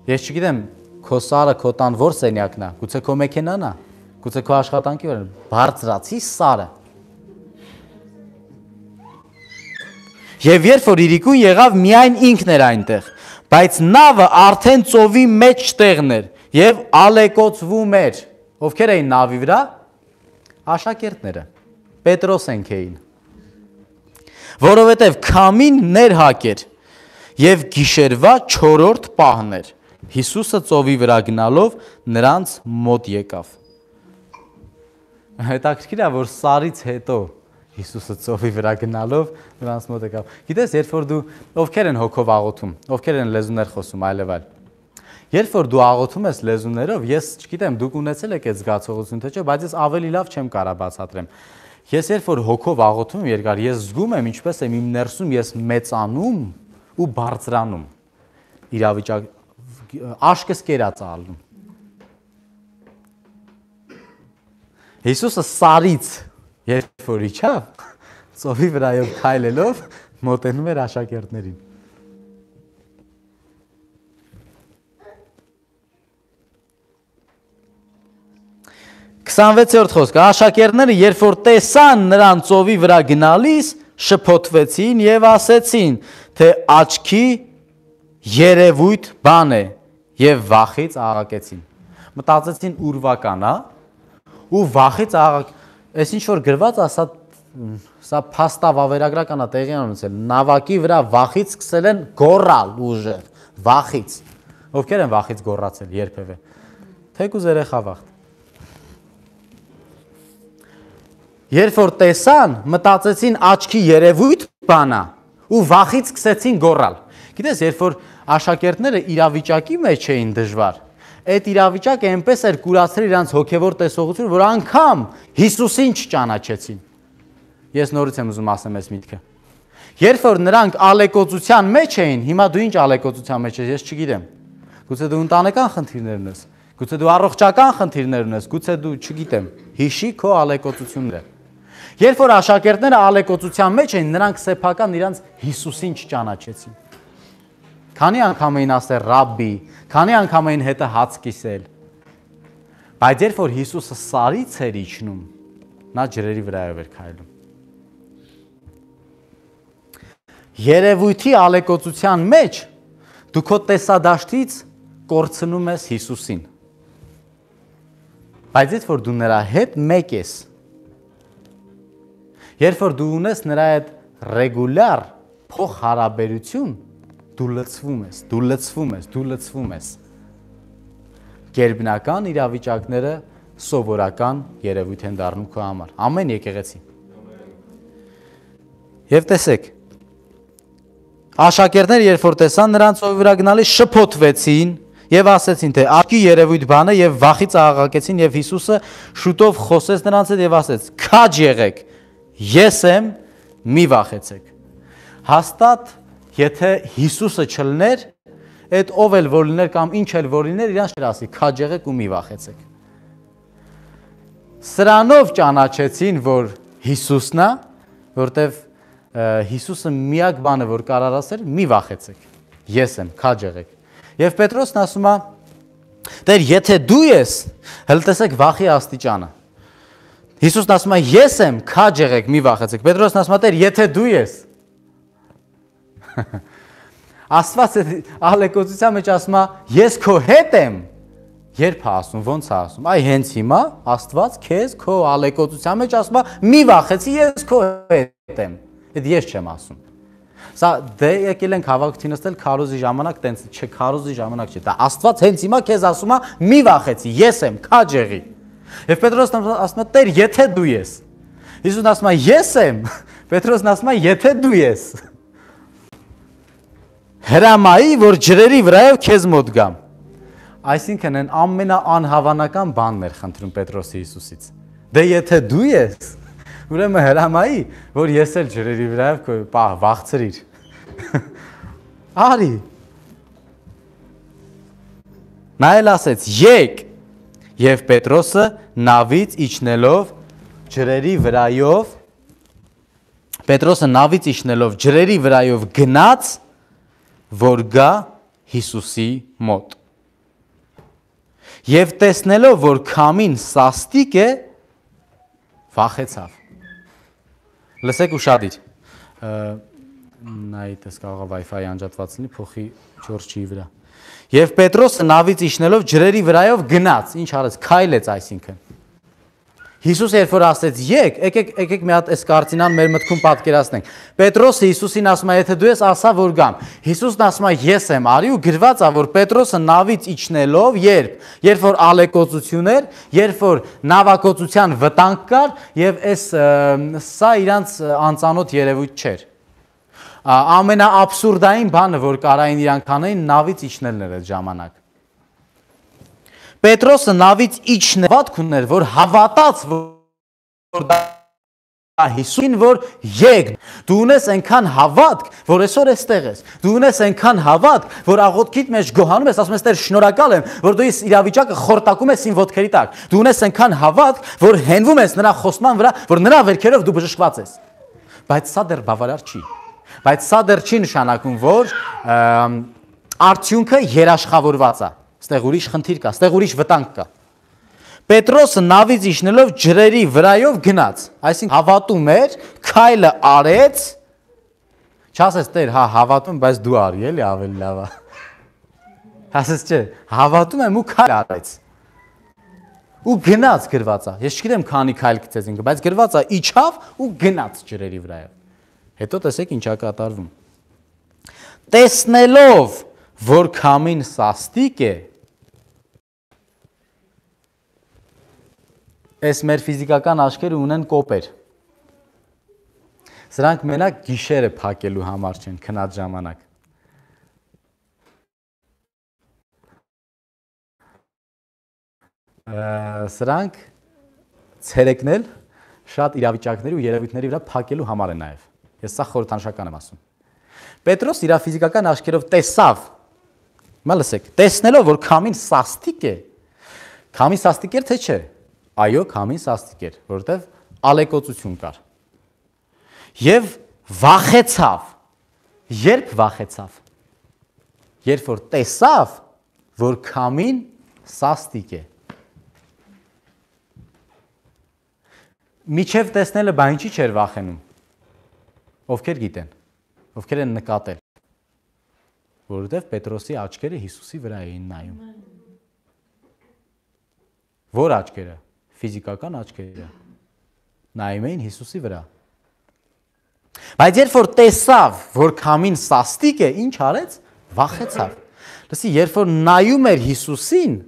Ես չգիտեմ, քո Սարը, քո տան որ սենյակն է, գուցե քո մեքենան է, գուցե քո աշխատանքի վրա, բարձրացի Սարը։ Եվ երբ որ իրիկուն եղավ, միայն ինքն էր այնտեղ, բայց նավը արդեն ծովի մեջ տեղն էր եւ ալեկոծվում էր։ Ովքեր էին նավի վրա? Աշակերտները, Պետրոսենք էին, որովհետև քամին ներհակ էր և գիշերվա 4-րդ պահն էր, Հիսուսը ծովի վրա գնալով նրանց մոտ եկավ։ Հետաքրքիր է, որ Սարից հետո Հիսուսը ծովի վրա գնալով նրանց մոտ եկավ։ Գիտես, երբ որ դու, ովքեր են հոգով աղոթում, ովքեր են լեզուներ խոսում, այլև այլ։ Երբ որ դու աղոթում ես լեզուներով, ես չգիտեմ, դուք ունեցել եք այդ զգացողություն, թե չէ, բայց ես ավելի լավ չեմ կարա բացատրեմ։ Ես երբ որ հոգով աղոթում եմ երկար, ես զգում եմ ինչպես եմ իմ ներսում ես մեծանում ու բարձրանում։ Իրավիճակ աշկս կերած ալնում։ Հիսուսը Սարից երբ որ իջավ, ծովի վրայով քայլելով մոտենում էր աշակերտներին։ 26-րդ խոսքը, աշակերտները երբ որ տեսան նրան ծովի վրա գնալիս, շփոթվեցին եւ ասեցին, թե աչքի երևույթ բան է եւ վախից աղաղակեցին։ Մտածեցին ուրվական, հա, ու վախից աղաղակ, այս ինչ որ գրված է, սա փաստավավերագրական է տեղի ունեցել, նավակի վրա վախից սկսել են գոռալ ուժեղ, վախից։ Ովքեր են վախից գոռացել երբևէ։ Թեկուզ երեխա վախ։ Երբ որ տեսան, մտածեցին աչքի երևույթ բանա ու վախից սկսեցին գոռալ։ Գիտես, երբ որ աշակերտները իրավիճակի մեջ էին դժվար, այդ իրավիճակը այնպես էր կուրացրել իրանց հոգևոր տեսողություն, որ անգամ Հիսուսին չճանաչեցին։ Ես նորից եմ ուզում ասեմ այս միտքը։ Երբ որ նրանք ալեկոծության մեջ էին, հիմա դու ինչ ալեկոծության մեջ ես, ես չգիտեմ։ Գուցե դու ընտանեկան խնդիրներ ունես, գուցե դու առողջական խնդիրներ ունես, գուցե դու չգիտեմ, հիշի քո ալեկոծությունները։ Երբ որ աշակերտները ալեկոծության մեջ էին, նրանք սեփական իրանց Հիսուսին չճանաչեցին։ Քանի անգամ էին ասել ռաբբի, քանի անգամ էին հետը հաց կիսել։ Բայց երբ որ Հիսուսը Սարից էր իջնում, նա ջրերի վրայով էր քայլում։ Երևույթի ալեկոծության մեջ դու քո տեսադաշտից կորցնում ես Հիսուսին։ Բայց երբ որ դու նրա հետ մեկ ես, երբ որ դու ունես նրա հետ ռեգուլար փոխհարաբերություն, դու լցվում ես, դու լցվում ես, դու լցվում ես։ Գերբնական իրավիճակները սովորական երևույթ են դառնում քո համար։ Ամեն եկեղեցի։ Եվ տեսեք, աշակերտները երբ որ տեսան նրանց ծովի վրա գնալիս շփոթվեցին եւ ասեցին թե աչքի երևույթ բանը եւ վախից աղաղակեցին եւ Հիսուսը շուտով խոսեց նրանց հետ եւ ասեց. «Քաջ եղեք, ես եմ, մի վախեցեք»։ Հաստատ եթե Հիսուսը չլներ, այդ ով էլ որ լիներ կամ ինչ էլ որ լիներ, իրանց չէր ասի քաջ եղեք ու մի վախեցեք։ Սրանով ճանաչեցին, որ Հիսուսն է, որտեվ Հիսուսը միակ բանը որ կարար ասել, մի վախեցեք։ Ես եմ, քաջ եղեք։ Եվ Պետրոսն ասում է. «Տեր, եթե դու ես, հəլ տեսեք վախի աստիճանը»։ Հիսուսն ասում է. «Ես եմ, քաջ եղեք, մի վախեցեք»։ Պետրոսն ասում է. «Տեր, եթե դու ես»։ Աստված ալեկոծության մեջ ասում է. «Ես քո հետ եմ»։ Երբ է ասում, ոնց է ասում։ Այ հենց հիմա Աստված քեզ քո ալեկոծության մեջ ասում է. «Մի վախեցի, ես քո հետ եմ»։ Այդ ես չեմ ասում։ Սա դե եկել ենք հավաքություն նստել քարոզի ժամանակ, տենց չէ, քարոզի ժամանակ չէ։ Դա Աստված հենց հիմա քեզ ասում է. «Մի վախեցի, ես եմ, քաջ եղի»։ Եվ Պետրոսն ասում է. «Տեր, եթե դու ես»։ Հիսուսն ասում է. «Ես եմ»։ Պետրոսն ասում է. «Եթե դու ես»։ Հրամայի, որ ջրերի վրայով քեզ մոտ գամ։ Այսինքն այն ամենաանհավանական բանն էր խնդրում Պետրոսը Հիսուսից։ Դե եթե դու ես, ուրեմն հրամայի, որ ես էլ ջրերի վրայով վախցրիր։ Արի։ Նա էլ ասեց. «Եկ»։ Եվ Պետրոսը նավից իջնելով ջրերի վրայով գնաց, որ գա Հիսուսի մոտ։ Եվ տեսնելով, որ քամին սաստիկ է, վախեցավ։ Լսեք ուշադիր։ Նայտես կարող է Wi-Fi անջատված լինի, փոխի Ջորջի վրա։ Եվ Պետրոսը նավից իջնելով ջրերի վրայով գնաց, ինչ արեց, քայլեց այսինքն։ Հիսուսը երբ որ ասեց եկ, եկեք մի հատ այս կարծինան մեր մտքում պատկերացնենք։ Պետրոսը Հիսուսին ասում է, եթե դու ես, ասա որ գամ։ Հիսուսն ասում է, ես եմ, արի ու գրված է, որ Պետրոսը նավից իջնելով, երբ որ ալեկոծություն էր, երբ որ նավակոծության վտանգ կար, եւ սա իրանց անծանոթ երևույթ չէր։ Ամենաաբսուրդային բանը, որ կարային իրանք անեին, նավից իջնելն էր այդ ժամանակ։ Պետրոսը նավից իջնել վատք ուներ, որ հավատաց, որ դա Հիսուսին, որ եկ, դու ունես այնքան հավատք, որ այսօր էստեղ ես, դու ունես այնքան հավատք, որ աղոթքիդ մեջ գոհանում ես, ասում ես, Տեր, շնորհակալ եմ, որ դու ես իրավիճակը խորտակում ես իմ ոտքերի տակ, դու ունես այնքան հավատք, որ հենվում ես նրա խոսման վրա, որ նրա վերքերով դու բժշկված ես, բայց սա դեռ բավարար չի, բայց սա դեռ չի նշանակում, որ արդյունքը երաշխավորված է։ Ստեղ ուրիշ խնդիր կա, ստեղ ուրիշ վտանգ կա։ Պետրոսը նավից իջնելով ջրերի վրայով գնաց, այսինքն հավատում էր, քայլը արեց, չասես Տեր, հա հավատում, բայց դու արի, էլի ավելի լավ է։ Ասես չէ, հավատում եմ ու քայլ արեց։ Ու գնաց գրված է։ Ես չգիտեմ քանի քայլ գցեց ինքը, բայց գրված է իջավ ու գնաց ջրերի վրայով։ Հետո տեսեք ինչա կատարվում։ Տեսնելով, որ քամին սաստիկ է, այս մեր ֆիզիկական աչքերը ունեն կոպեր։ Սրանք մենակ գիշերը փակելու համար չեն, քնած ժամանակ։ Սրանք ցերեկն էլ շատ իրավիճակների ու երևույթների վրա փակելու համար է նաև։ Ես սա խորհրդանշական եմ ասում։ Պետրոս իր ֆիզիկական աչքերով տեսավ, հիմա լսեք, տեսնելով, որ քամին սաստիկ է, քամին սաստիկ էր թե չէ։ Այո, քամին սաստիկ էր, որովհետև ալեկոծություն կար։ Եվ վախեցավ։ Երբ վախեցավ։ Երբ որ տեսավ, որ քամին սաստիկ է։ Միջև տեսնելը բա ինչի չէր վախենում։ Ովքեր գիտեն, ովքեր են նկատել։ Որովհետև Պետրոսի աչքերը Հիսուսի վրա էին նայում։ Որ աչքերը, ֆիզիկական աչքերը, նայում էին Հիսուսի վրա։ Բայց երբ որ տեսավ, որ քամին սաստիկ է, ինչ արեց, վախեցավ։ Լսի, երբ որ նայում էր Հիսուսին,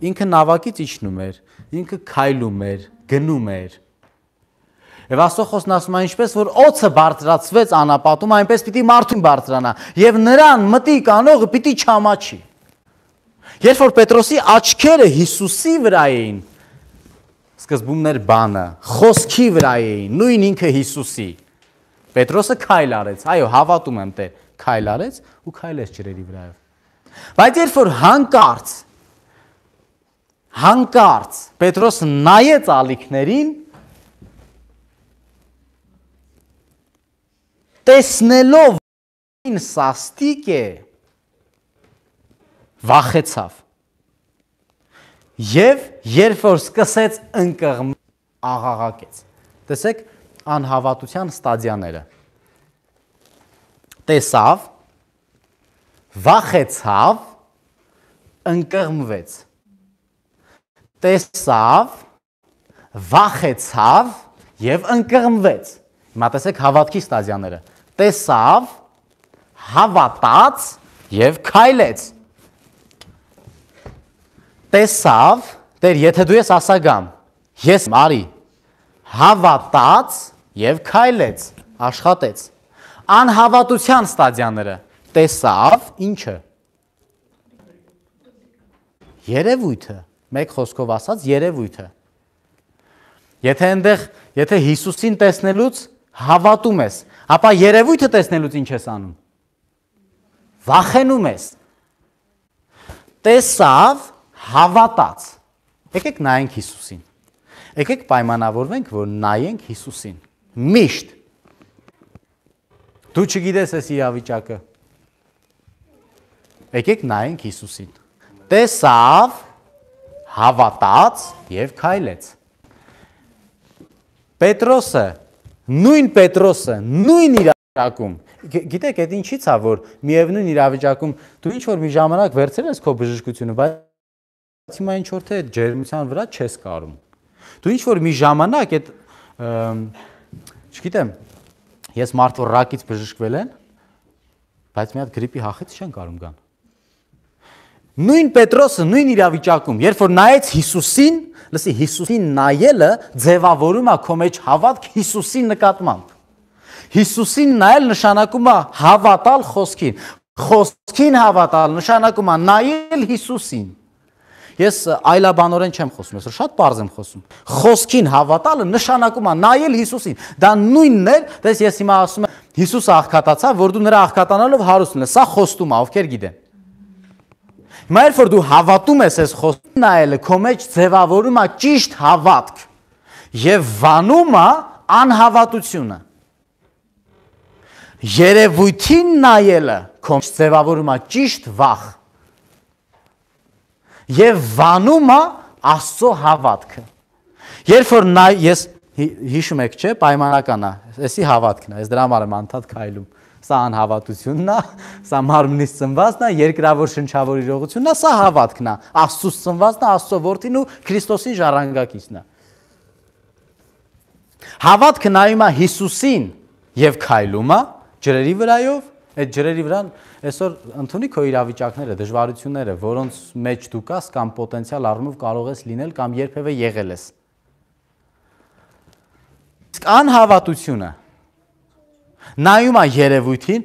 ինքը նավակից իջնում էր, ինքը քայլում էր, գնում էր։ Եվ Աստծո ասում է, ինչպես որ օձը բարձրացվեց անապատում, այնպես պիտի մարդուն բարձրանա, եւ նրան մտիկ անողը պիտի չամաչի։ Երբ որ Պետրոսի աչքերը Հիսուսի վրա էին, սկզբումներ բանը, խոսքի վրա էին, նույն ինքը Հիսուսի, Պետրոսը քայլ արեց, այո, հավատում եմ Տեր, քայլ արեց ու քայլեց ջրերի վրայով։ Բայց երբ որ հանկարծ Պետրոսը նայեց ալիքներին, տեսնելով ին սաստիկ է, վախեցավ։ Եվ երբ որ սկսեց ընկղմել, աղաղակեց։ Տեսեք անհավատության ստադիաները։ Տեսավ, վախեցավ, ընկղմվեց։ Տեսավ, վախեցավ եւ ընկղմվեց։ Հիմա տեսեք հավատքի ստադիաները։ Տեսավ, հավատաց եւ քայլեց։ Տեսավ, Տեր, եթե դու ես ասա գամ, ես արի, հավատաց եւ քայլեց, աշխատեց։ Անհավատության ստադիաները, տեսավ, ինչը։ Երևույթը, մեկ խոսքով ասած, երևույթը։ Եթե Հիսուսին տեսնելուց հավատում ես, ապա երևույթը տեսնելուց ինչ ես անում։ Վախենում ես։ Տեսավ, հավատաց։ Եկեք նայենք Հիսուսին։ Եկեք պայմանավորվենք, որ նայենք Հիսուսին։ Միշտ։ Դու չգիտես այս իրավիճակը։ Եկեք նայենք Հիսուսին։ Տեսավ, հավատաց եւ քայլեց։ Պետրոսը, նույն իրավիճակում, գիտեք, այդ ինչից է, որ միևնույն իրավիճակում դու ինչ որ մի ժամանակ վերցրել ես քո բժշկությունը, բայց հիմա ինչ որ թե ջերմության վրա չես կարում։ Դու ինչ որ մի ժամանակ այդ, չգիտեմ, ես մարդ որ ռակից բժշկվել են, բայց մի հատ գրիպի հախից չեն կարում գան։ Նույն Պետրոսը, նույն իրավիճակում, երբ որ նայեց Հիսուսին, լսի, Հիսուսին նայելը ձևավորում է քո մեջ հավատք Հիսուսի նկատմամբ։ Հիսուսին նայել նշանակում է հավատալ խոսքին։ Խոսքին հավատալ նշանակում է նայել Հիսուսին։ Ես այլաբանորեն չեմ խոսում, ես շատ պարզ եմ խոսում։ Խոսքին հավատալը նշանակում է նայել Հիսուսին։ Դա նույնն է, դες ես հիմա ասում եմ Հիսուսը աղքատացավ, որ դու նրա աղքատանալով հարուստ ես։ Սա խոստում է, ովքեր գիտեն։ Հիմա երբ որ դու հավատում ես այս խոսքին նայելը, քո մեջ ձևավորում է ճիշտ հավատք եւ վանում է անհավատությունը։ Երևույթին նայելը քո մեջ ձևավորում է ճիշտ վախ եւ վանում է Աստծո հավատքը։ Երբ որ ես հիշում եք, չէ, պայմանական է, էսի հավատքն է, ես դրա համար եմ անդադ քայլում։ Սա անհավատությունն է, սա մարմնից ծնվածն է, երկրավոր շնչավոր իրողությունն է, սա հավատքն է, Աստծուց ծնվածն է, Աստծո որդին ու Քրիստոսի ժառանգակիցն է։ Հավատքը նայում է Հիսուսին եւ քայլում է ջրերի վրայով, այդ ջրերի վրան այսօր ընդունի քո իրավիճակները, դժվարությունները, որոնց մեջ դու կաս կամ պոտենցիալ առումով կարող ես լինել կամ երբևէ եղել ես։ Իսկ անհավատությունը նայում է երևույթին,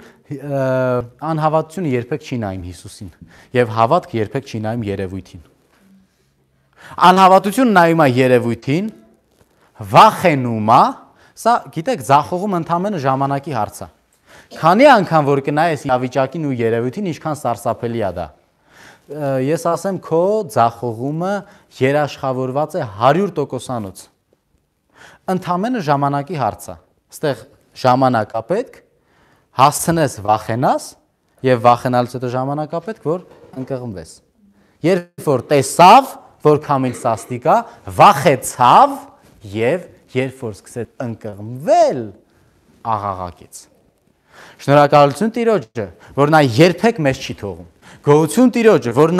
անհավատությունը երբեք չի նայում Հիսուսին եւ հավատքը երբեք չի նայում երևույթին։ Անհավատությունը նայում է երևույթին, վախենում է, սա գիտեք, ձախողում ընդամենը ժամանակի հարց է։ Քանի անգամ որ կնայես իրավիճակին ու երևույթին, ինչքան սարսափելի է դա։ Ես ասեմ, քո ձախողումը երաշխավորված է 100%-անոց։ Ընդամենը ժամանակի հարց է։ Այստեղ ժամանակ է պետք, հասցնես վախենաս եւ վախենալուց հետո ժամանակ է պետք, որ ընկղմվես։ Երբ որ տեսավ, որ քամին սաստիկ է, վախեցավ եւ երբ որ սկսեց ընկղմվել, աղաղակեց։ Շնորհակալություն Տիրոջը, որ նա երբեք մեզ չի թողում։ Գոհություն Տիրոջը, որ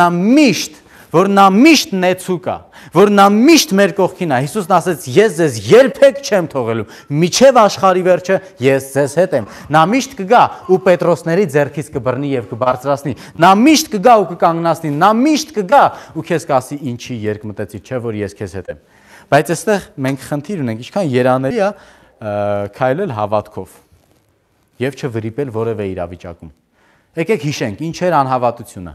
նա միշտ նեցուկ է, որ նա միշտ մեր կողքին է։ Հիսուսն ասեց. ես ձեզ երբեք չեմ թողելու, միջև աշխարհի վերջը ես ձեզ հետ եմ։ Նա միշտ կգա ու Պետրոսների ձեռքից կբռնի եւ կբարձրացնի։ Նա միշտ կգա ու կկանգնացնի, նա միշտ կգա ու քեզ կասի ինչի երկմտեցի, չէ որ ես քեզ հետ եմ։ Բայց այստեղ մենք խնդիր ունենք, ինչքան երանելի է քայլել հավատքով եւ չվրիպել որևէ իրավիճակում։ Եկեք հիշենք, ինչ էր անհավատությունը։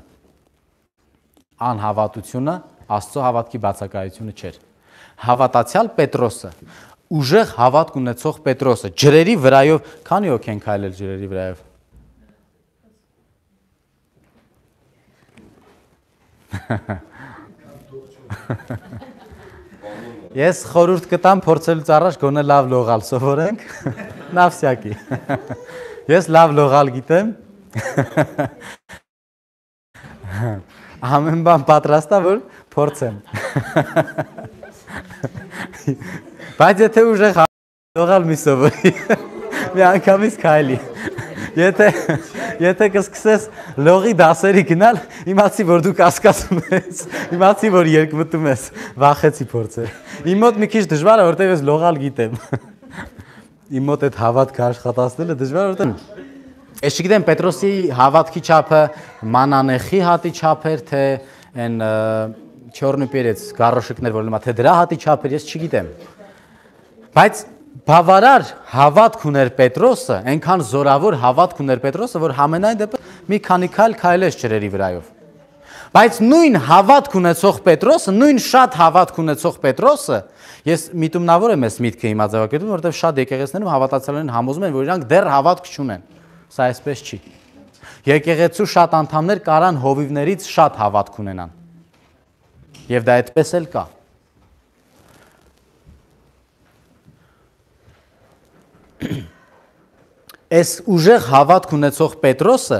անհավատությունը Աստծո հավատքի բացակայությունը չէր։ Հավատացյալ Պետրոսը, ուժեղ հավատք ունեցող Պետրոսը, ջրերի վրայով, քանի հոգի են քայլել ջրերի վրայով։ Ես խորհուրդ կտամ փորձելուց առաջ գոնե լավ լողալ սովորենք, նավսյակի։ Ես լավ լողալ գիտեմ։ Ամեն բան պատրաստա, որ փորձեմ։ Բայց եթե ուժեղ լողալ մի սովորի, մի անգամից քայլի։ Եթե կսկսես լողի դասերի գնալ, իմացի, որ դու կասկածում ես, իմացի, որ երկմտում ես, վախեցի փորձել։ Իմ մոտ մի քիչ դժվար է, որտեղ ես լողալ գիտեմ։ Իմ մոտ այդ հավատքը աշխատացնելը դժվար է, որտեղ ես չգիտեմ Պետրոսի հավատքի չափը մանանեխի հատի չափ էր, թե այն չորնի պերեց գարոշիկներ, որ լմա, թե դրա հատի չափ էր, ես չգիտեմ։ Բայց բավարար հավատք ուներ Պետրոսը, այնքան զորավոր հավատք ուներ Պետրոսը, որ համենայն դեպս մի քանի քայլեց ջրերի վրայով։ Բայց նույն հավատք ունեցող Պետրոսը, նույն շատ հավատք ունեցող Պետրոսը, ես միտումնավոր եմ այս միտքը հիմա ձևակերպում, որովհետև շատ եկեղեցիներում հավատացյալներն համոզում են, որ իրանք դեռ հավատք չունեն։ Սա այսպես չի։ Եկեղեցու շատ անդամներ կարան հովիվներից շատ հավատք ունենան։ Եվ դա այդպես էլ կա։ Այս ուժեղ հավատք ունեցող Պետրոսը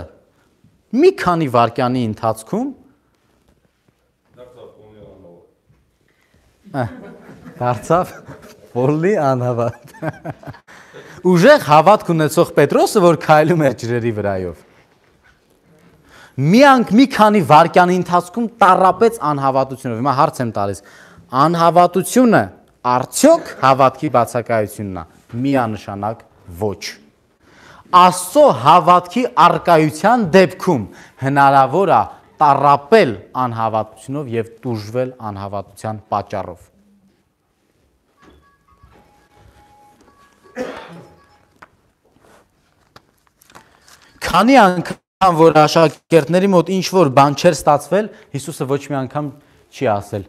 մի քանի վայրկյանի ընթացքում դարձավ Պոլի անհավատ։ Ուժեղ հավատք ունեցող Պետրոսը, որ քայլում էր ջրերի վրայով, մի քանի վայրկյանի ընթացքում տառապեց անհավատությունով։ Հիմա հարց եմ տալիս, անհավատությունը արդյոք հավատքի բացակայությունն է։ Միանշանակ ոչ։ Աստծո հավատքի արկայության դեպքում հնարավոր է տառապել անհավատությունով եւ տուժվել անհավատության պատճառով։ Քանի անգամ որ աշակերտների մոտ ինչ որ բան չէր ստացվել, Հիսուսը ոչ մի անգամ չի ասել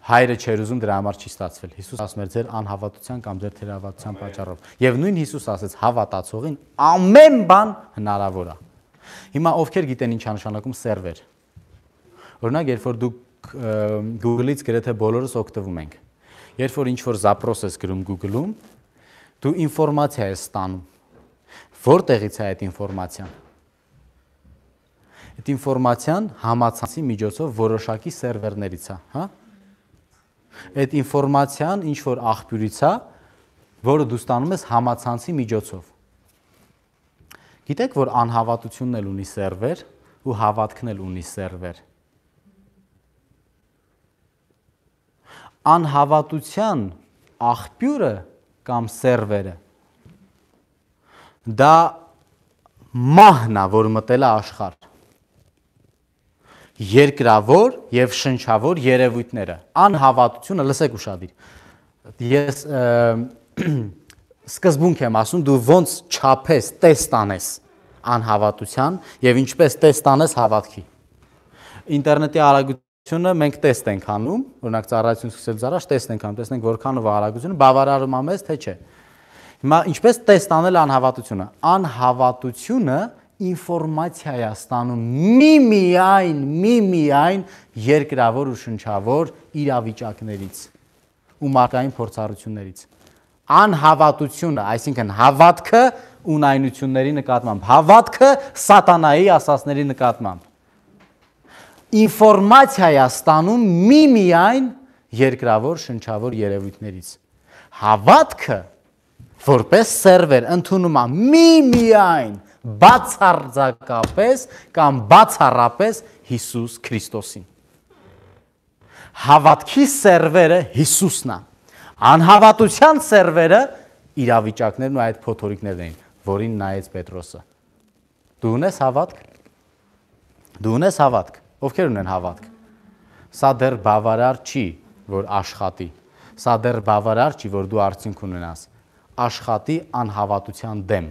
հայրը չէր ուզում, դրա համար չի ստացվել։ Հիսուս ասում էր ձեր անհավատության կամ ձեր թերավատության պատճառով։ Եվ նույն Հիսուս ասեց հավատացողին ամեն բան հնարավոր է։ Հիմա ովքեր գիտեն ինչ նշանակում սերվեր։ Օրինակ, երբ որ դուք Google-ից գրեթե բոլորս օգտվում ենք։ Երբ որ ինչ որ zaпрос ես գրում Google-ում, դու ինֆորմացիա ես ստանում։ Որտեղից է այդ ինֆորմացիան։ Այդ ինֆորմացիան համացանցի միջոցով որոշակի սերվերներից է, հա։ Այդ ինֆորմացիան ինչ որ աղբյուրից է, որը դու ստանում ես համացանցի միջոցով։ Գիտեք, որ անհավատությունն էլ ունի սերվեր ու հավատքն էլ ունի սերվեր։ Անհավատության աղբյուրը կամ սերվերը դա մահն է, որ մտել է աշխարհ։ Երկրավոր եւ շնչավոր երևույթները, անհավատությունը, լսեք ուշադիր։ Ես սկզբունք եմ ասում, դու ոնց չափես, տեստ անես անհավատության եւ ինչպես տեստ անես հավատքի։ Ինտերնետի արագությունը մենք տեստ ենք անում, օրինակ ծառայություն սկսելուց առաջ տեստ ենք անում, տեսնենք որքանով է արագությունը, բավարարում է մեզ, թե չէ։ Հիմա ինչպես տեստ անել անհավատությունը։ Անհավատությունը ինֆորմացիա է ստանում միմիայն երկրավոր ու շնչավոր իրավիճակներից ու մարդկային փորձառություններից։ Անհավատությունը, այսինքն հավատքը ունայնությունների նկատմամբ, հավատքը սատանայի ասածների նկատմամբ։ Ինֆորմացիա է ստանում միմիայն երկրավոր շնչավոր երևույթներից։ Հավատքը որպես սերվեր ընդունում է միմիայն բացարձակապես կամ բացառապես Հիսուս Քրիստոսին։ Հավատքի սերվերը Հիսուսն է։ Անհավատության սերվերը իրավիճակներն ու այդ փոթորիկներն էին, որին նայեց Պետրոսը։ Դու ունես հավատք։ Դու ունես հավատք։ Ովքեր ունեն հավատք։ Սա դեռ բավարար չի, որ աշխատի։ Սա դեռ բավարար չի, որ դու արդյունք ունենաս։ Աշխատի անհավատության դեմ։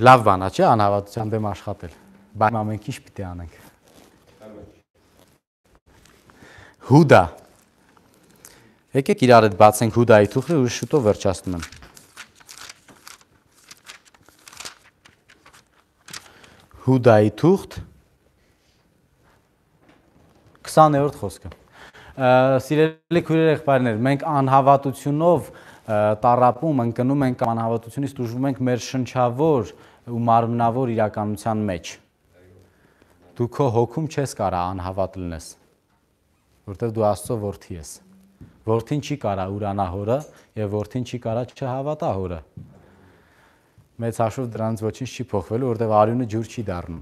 Լավ բան է, չէ՞, անհավատության դեմ աշխատել։ Բայց ամենք ինչ պիտի անենք։ Հուդա։ Եկեք իրար հետ բացենք Հուդայի թուղթը ու շուտով վերջացնում եմ։ Հուդայի թուղթ 20-րդ խոսքը։ Սիրելի քույրեր, եղբայրներ, մենք անհավատությունով տառապում, ընկնում ենք անհավատությունից տուժվում ենք մեր շնչավոր ու մարմնավոր իրականության մեջ։ Դու քո հոգում չես կարա անհավատ լինես, որտեղ դու Աստծո որդի ես։ Որդին չի կարա ուրանա հորը եւ որդին չի կարա չհավատա հորը։ Մեծ հաշվով դրանից ոչինչ չի փոխվելու, որտեղ արյունը ջուր չի դառնում։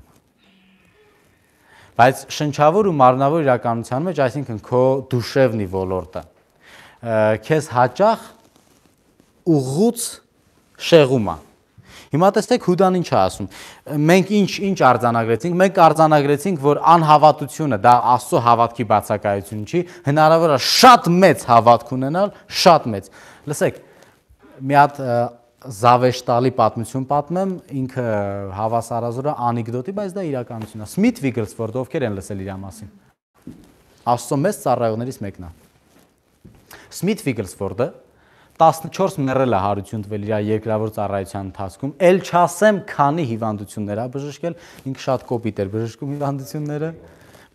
Բայց շնչավոր ու մարմնավոր իրականության մեջ, այսինքն քո դուշևնի ոլորտը, քեզ հաճախ ուղղուց շեղում է։ Հիմա տեսեք Հուդան ինչ է ասում։ Մենք ինչ արձանագրեցինք։ Մենք արձանագրեցինք, որ անհավատությունը դա Աստծո հավատքի բացակայություն չի, հնարավոր է շատ մեծ հավատք ունենալ, շատ մեծ։ Լսեք, մի հատ զավեշտալի պատմություն պատմեմ, ինքը հավասարազոր է անեկդոտի, բայց դա իրականություն է։ Սմիթ Վիգլսվորդը ովքեր են լսել իր մասին։ Աստծո մեծ ծառայողներից մեկն է։ Սմիթ Վիգլսվորդը 14 մեռել է հարություն տվել իր երկրավոր ծառայության ընթացքում, ել չասեմ քանի հիվանդություններ ա բժշկել, ինքը շատ կոպիտ էր բժշկում հիվանդությունները,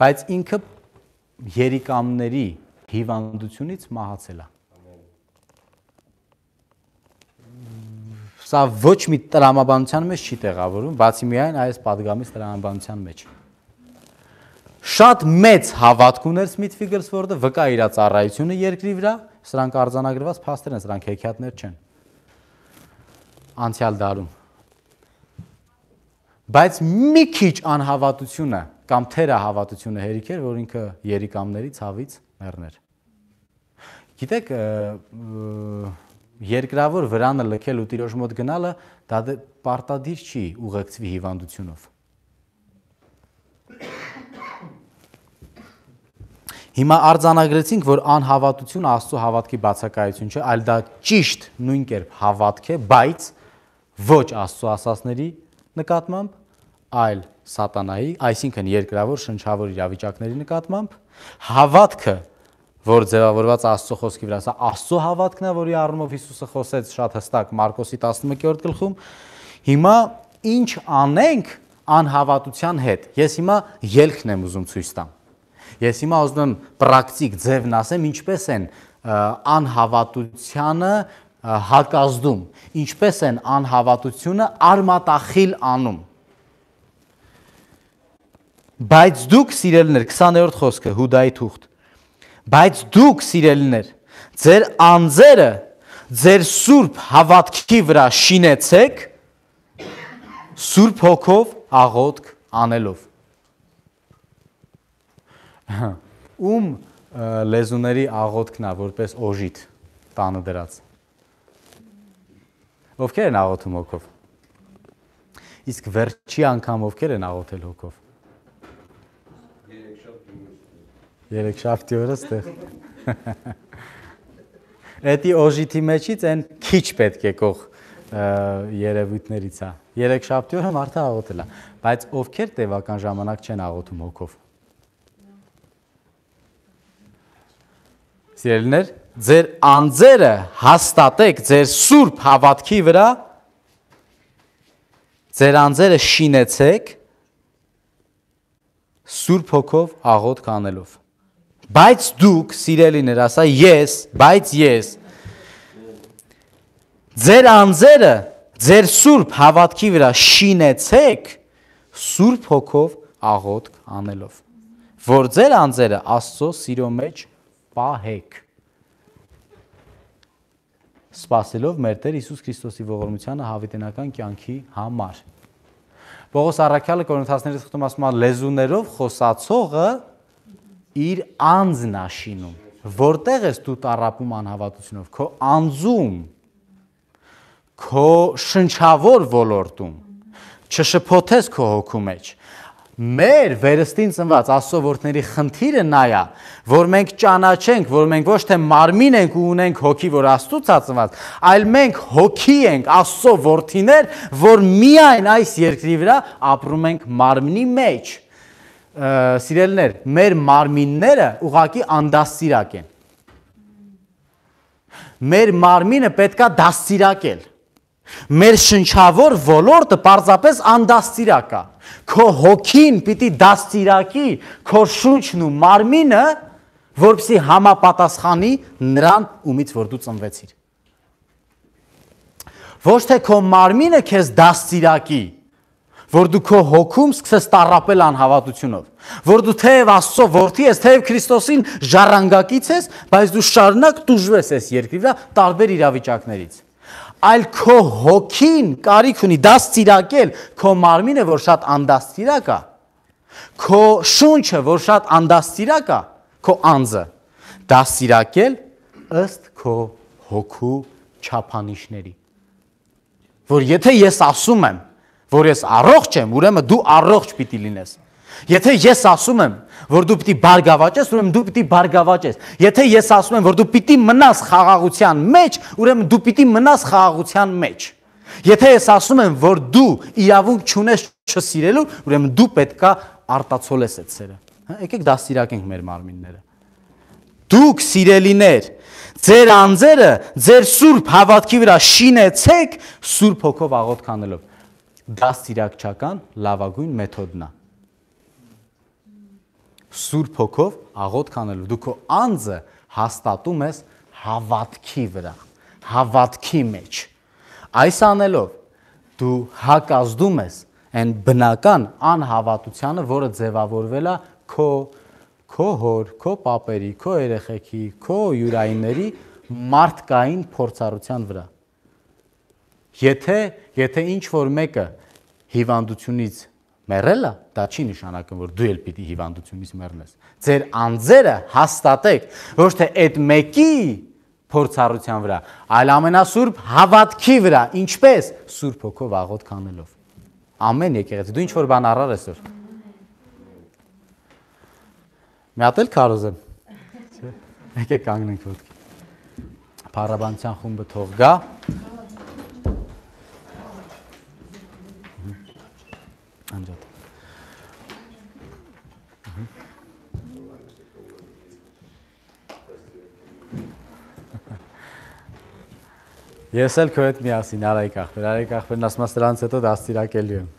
բայց ինքը երիկամների հիվանդությունից մահացել է։ Սա ոչ մի տրամաբանության մեջ չի տեղավորվում, բացի միայն այս պատգամից տրամաբանության մեջ։ Շատ մեծ հավատք ուներ Սմիթ Վիգլսվորդը, վկա իր ծառայությունը երկրի վրա, սրանք արձանագրված փաստեր են, սրանք հեքիաթներ չեն։ Անցյալ դարում։ Բայց մի քիչ անհավատությունը կամ թերահավատությունը հերիք էր, որ ինքը երիկամների ցավից մեռներ։ Գիտեք, երկրավոր վրանը լքել ու տիրոջ մոտ գնալը դա պարտադիր չի ուղեկցվի հիվանդությունով։ Հիմա արձանագրեցինք, որ անհավատությունը Աստծո հավատքի բացակայություն չէ, այլ դա ճիշտ նույն կերպ հավատք է, բայց ոչ Աստծո ասածների նկատմամբ, այլ սատանայի, այսինքն երկրավոր շնչավոր իրավիճակների նկատմամբ, հավատքը, որ ձևավորված Աստծո խոսքի վրա, սա Աստծո հավատքն է, որի առումով Հիսուսը խոսեց շատ հստակ Մարկոսի 11-րդ գլխում։ Հիմա ինչ անենք անհավատության հետ։ Ես հիմա ելքն եմ ուզում ցույց տամ։ Ես հիմա ուզում եմ պրակտիկ ձևն ասեմ, ինչպես են անհավատությանը հակազդում, ինչպես են անհավատությունը արմատախիլ անում։ Բայց դուք սիրելիներ, 20-րդ խոսքը Հուդայի թուղթ։ Բայց դուք սիրելիներ, ձեր անձերը ձեր սուրբ հավատքի վրա շինեցեք սուրբ հոգով աղոթք անելով։ Ում լեզուների աղոթքն է որպես օժիտ տանը դրած։ Ովքեր են աղոթում հոգով։ Իսկ վերջի անգամ ովքեր են աղոթել հոգով։ Երեքշաբթի օրը ստեղ։ Էդի օժիտի մեջից են քիչ պետք է կող երևույթներից է։ Երեքշաբթի օրը մարդը աղոթել է, բայց ովքեր տևական ժամանակ չեն աղոթում հոգով։ Սիրելիներ, ձեր անձերը հաստատեք ձեր սուրբ հավատքի վրա, ձեր անձերը շինեցեք սուրբ հոգով աղոթք անելով։ Բայց դուք, սիրելիներ, ասա ես, բայց ես, ձեր անձերը ձեր սուրբ հավատքի վրա շինեցեք սուրբ հոգով աղոթք անելով, որ ձեր անձերը Աստծո սիրո մեջ պահեք, սպասելով մեր Տեր Հիսուս Քրիստոսի ողորմությանը հավիտենական կյանքի համար։ Պողոս առաքյալը Կորինթացիներին թղթում ասում է լեզուներով խոսացողը իր անձն է շինում։ Որտեղ ես դու տառապում անհավատությունով, քո անձում, քո շնչավոր ոլորտում, չշփոթես քո հոգու մեջ, Մեր վերստին ծնված Աստծո որդների խնդիրը նա է, որ մենք ճանաչենք, որ մենք ոչ թե մարմին ենք ու ունենք հոգի, որ Աստծուց է ծնված, այլ մենք հոգի ենք, Աստծո որդիներ, որ միայն այս երկրի վրա ապրում ենք մարմնի մեջ։ Սիրելիներ, մեր մարմինները ուղղակի անդաստիրակ են։ Մեր մարմինը պետքա դաստիրակել։ Մեր շնչավոր ոլորտը պարզապես անդաստիրակ է։ Քո հոգին պիտի դաստիրակի քո շունչն ու մարմինը, որպեսզի համապատասխանի նրան, ումից որ դու ծնվեցիր։ Ոչ թե քո մարմինը քեզ դաստիրակի, որ դու քո հոգում սկսես տառապել անհավատությունով, որ դու թեև Աստծո որդի ես, թեև Քրիստոսին ժառանգակից ես, բայց դու շարունակ տուժվես այս երկրի վրա տարբեր իրավիճակներից։ Այլ քո հոգին կարիք ունի դաստիրակել քո մարմինը, որ շատ անդաստիրակ է, քո շունչը, որ շատ անդաստիրակ է, քո անձը դաստիրակել ըստ քո հոգու չափանիշների։ Որ եթե ես ասում եմ, որ ես առողջ եմ, ուրեմն դու առողջ պիտի լինես։ Եթե ես ասում եմ, որ դու պիտի բարգավաճես, ուրեմն դու պիտի բարգավաճես։ Եթե ես ասում եմ, որ դու պիտի մնաս խաղաղության մեջ, ուրեմն դու պիտի մնաս խաղաղության մեջ։ Եթե ես ասում եմ, որ դու իրավունք չունես չսիրելու, ուրեմն դու պետքա արտացոլես այդ սերը։ Եկեք դաստիրակենք մեր մարմինները։ Դուք սիրելիներ, ձեր անձերը ձեր սուրբ հավատքի վրա շինեցեք Սուրբ Հոգով աղոթք անելով։ Դաստիրակչական լավագույն մեթոդն է։ Սուրբ Հոգով աղոթք անելու։ Դու քո անձը հաստատում ես հավատքի վրա, հավատքի մեջ։ Այս անելով դու հակազդում ես այն բնական անհավատությանը, որը ձևավորվել է քո հոր, քո պապերի, քո երեխեքի, քո յուրայինների մարդկային փորձառության վրա։ Եթե ինչ-որ մեկը հիվանդությունից մեռել է, դա չի նշանակում, որ դու էլ պիտի հիվանդությունից մեռնես։ Ձեր անձերը հաստատեք ոչ թե այդ մեկի փորձառության վրա, այլ ամենասուրբ հավատքի վրա, ինչպես Սուրբ Հոգով աղոթք անելով։ Ամեն եկեղեցի, դու ինչ-որ բան առար այսօր։ Մի հատ էլ քարոզեմ։ Եկեք կանգնենք ոտքի։ Փառաբանության խումբը թող գա։ Անջատ։ Ես էլ քո հետ միասին Արայք ախպեր, ասում ես դրանից հետո դաստիրակելի եմ։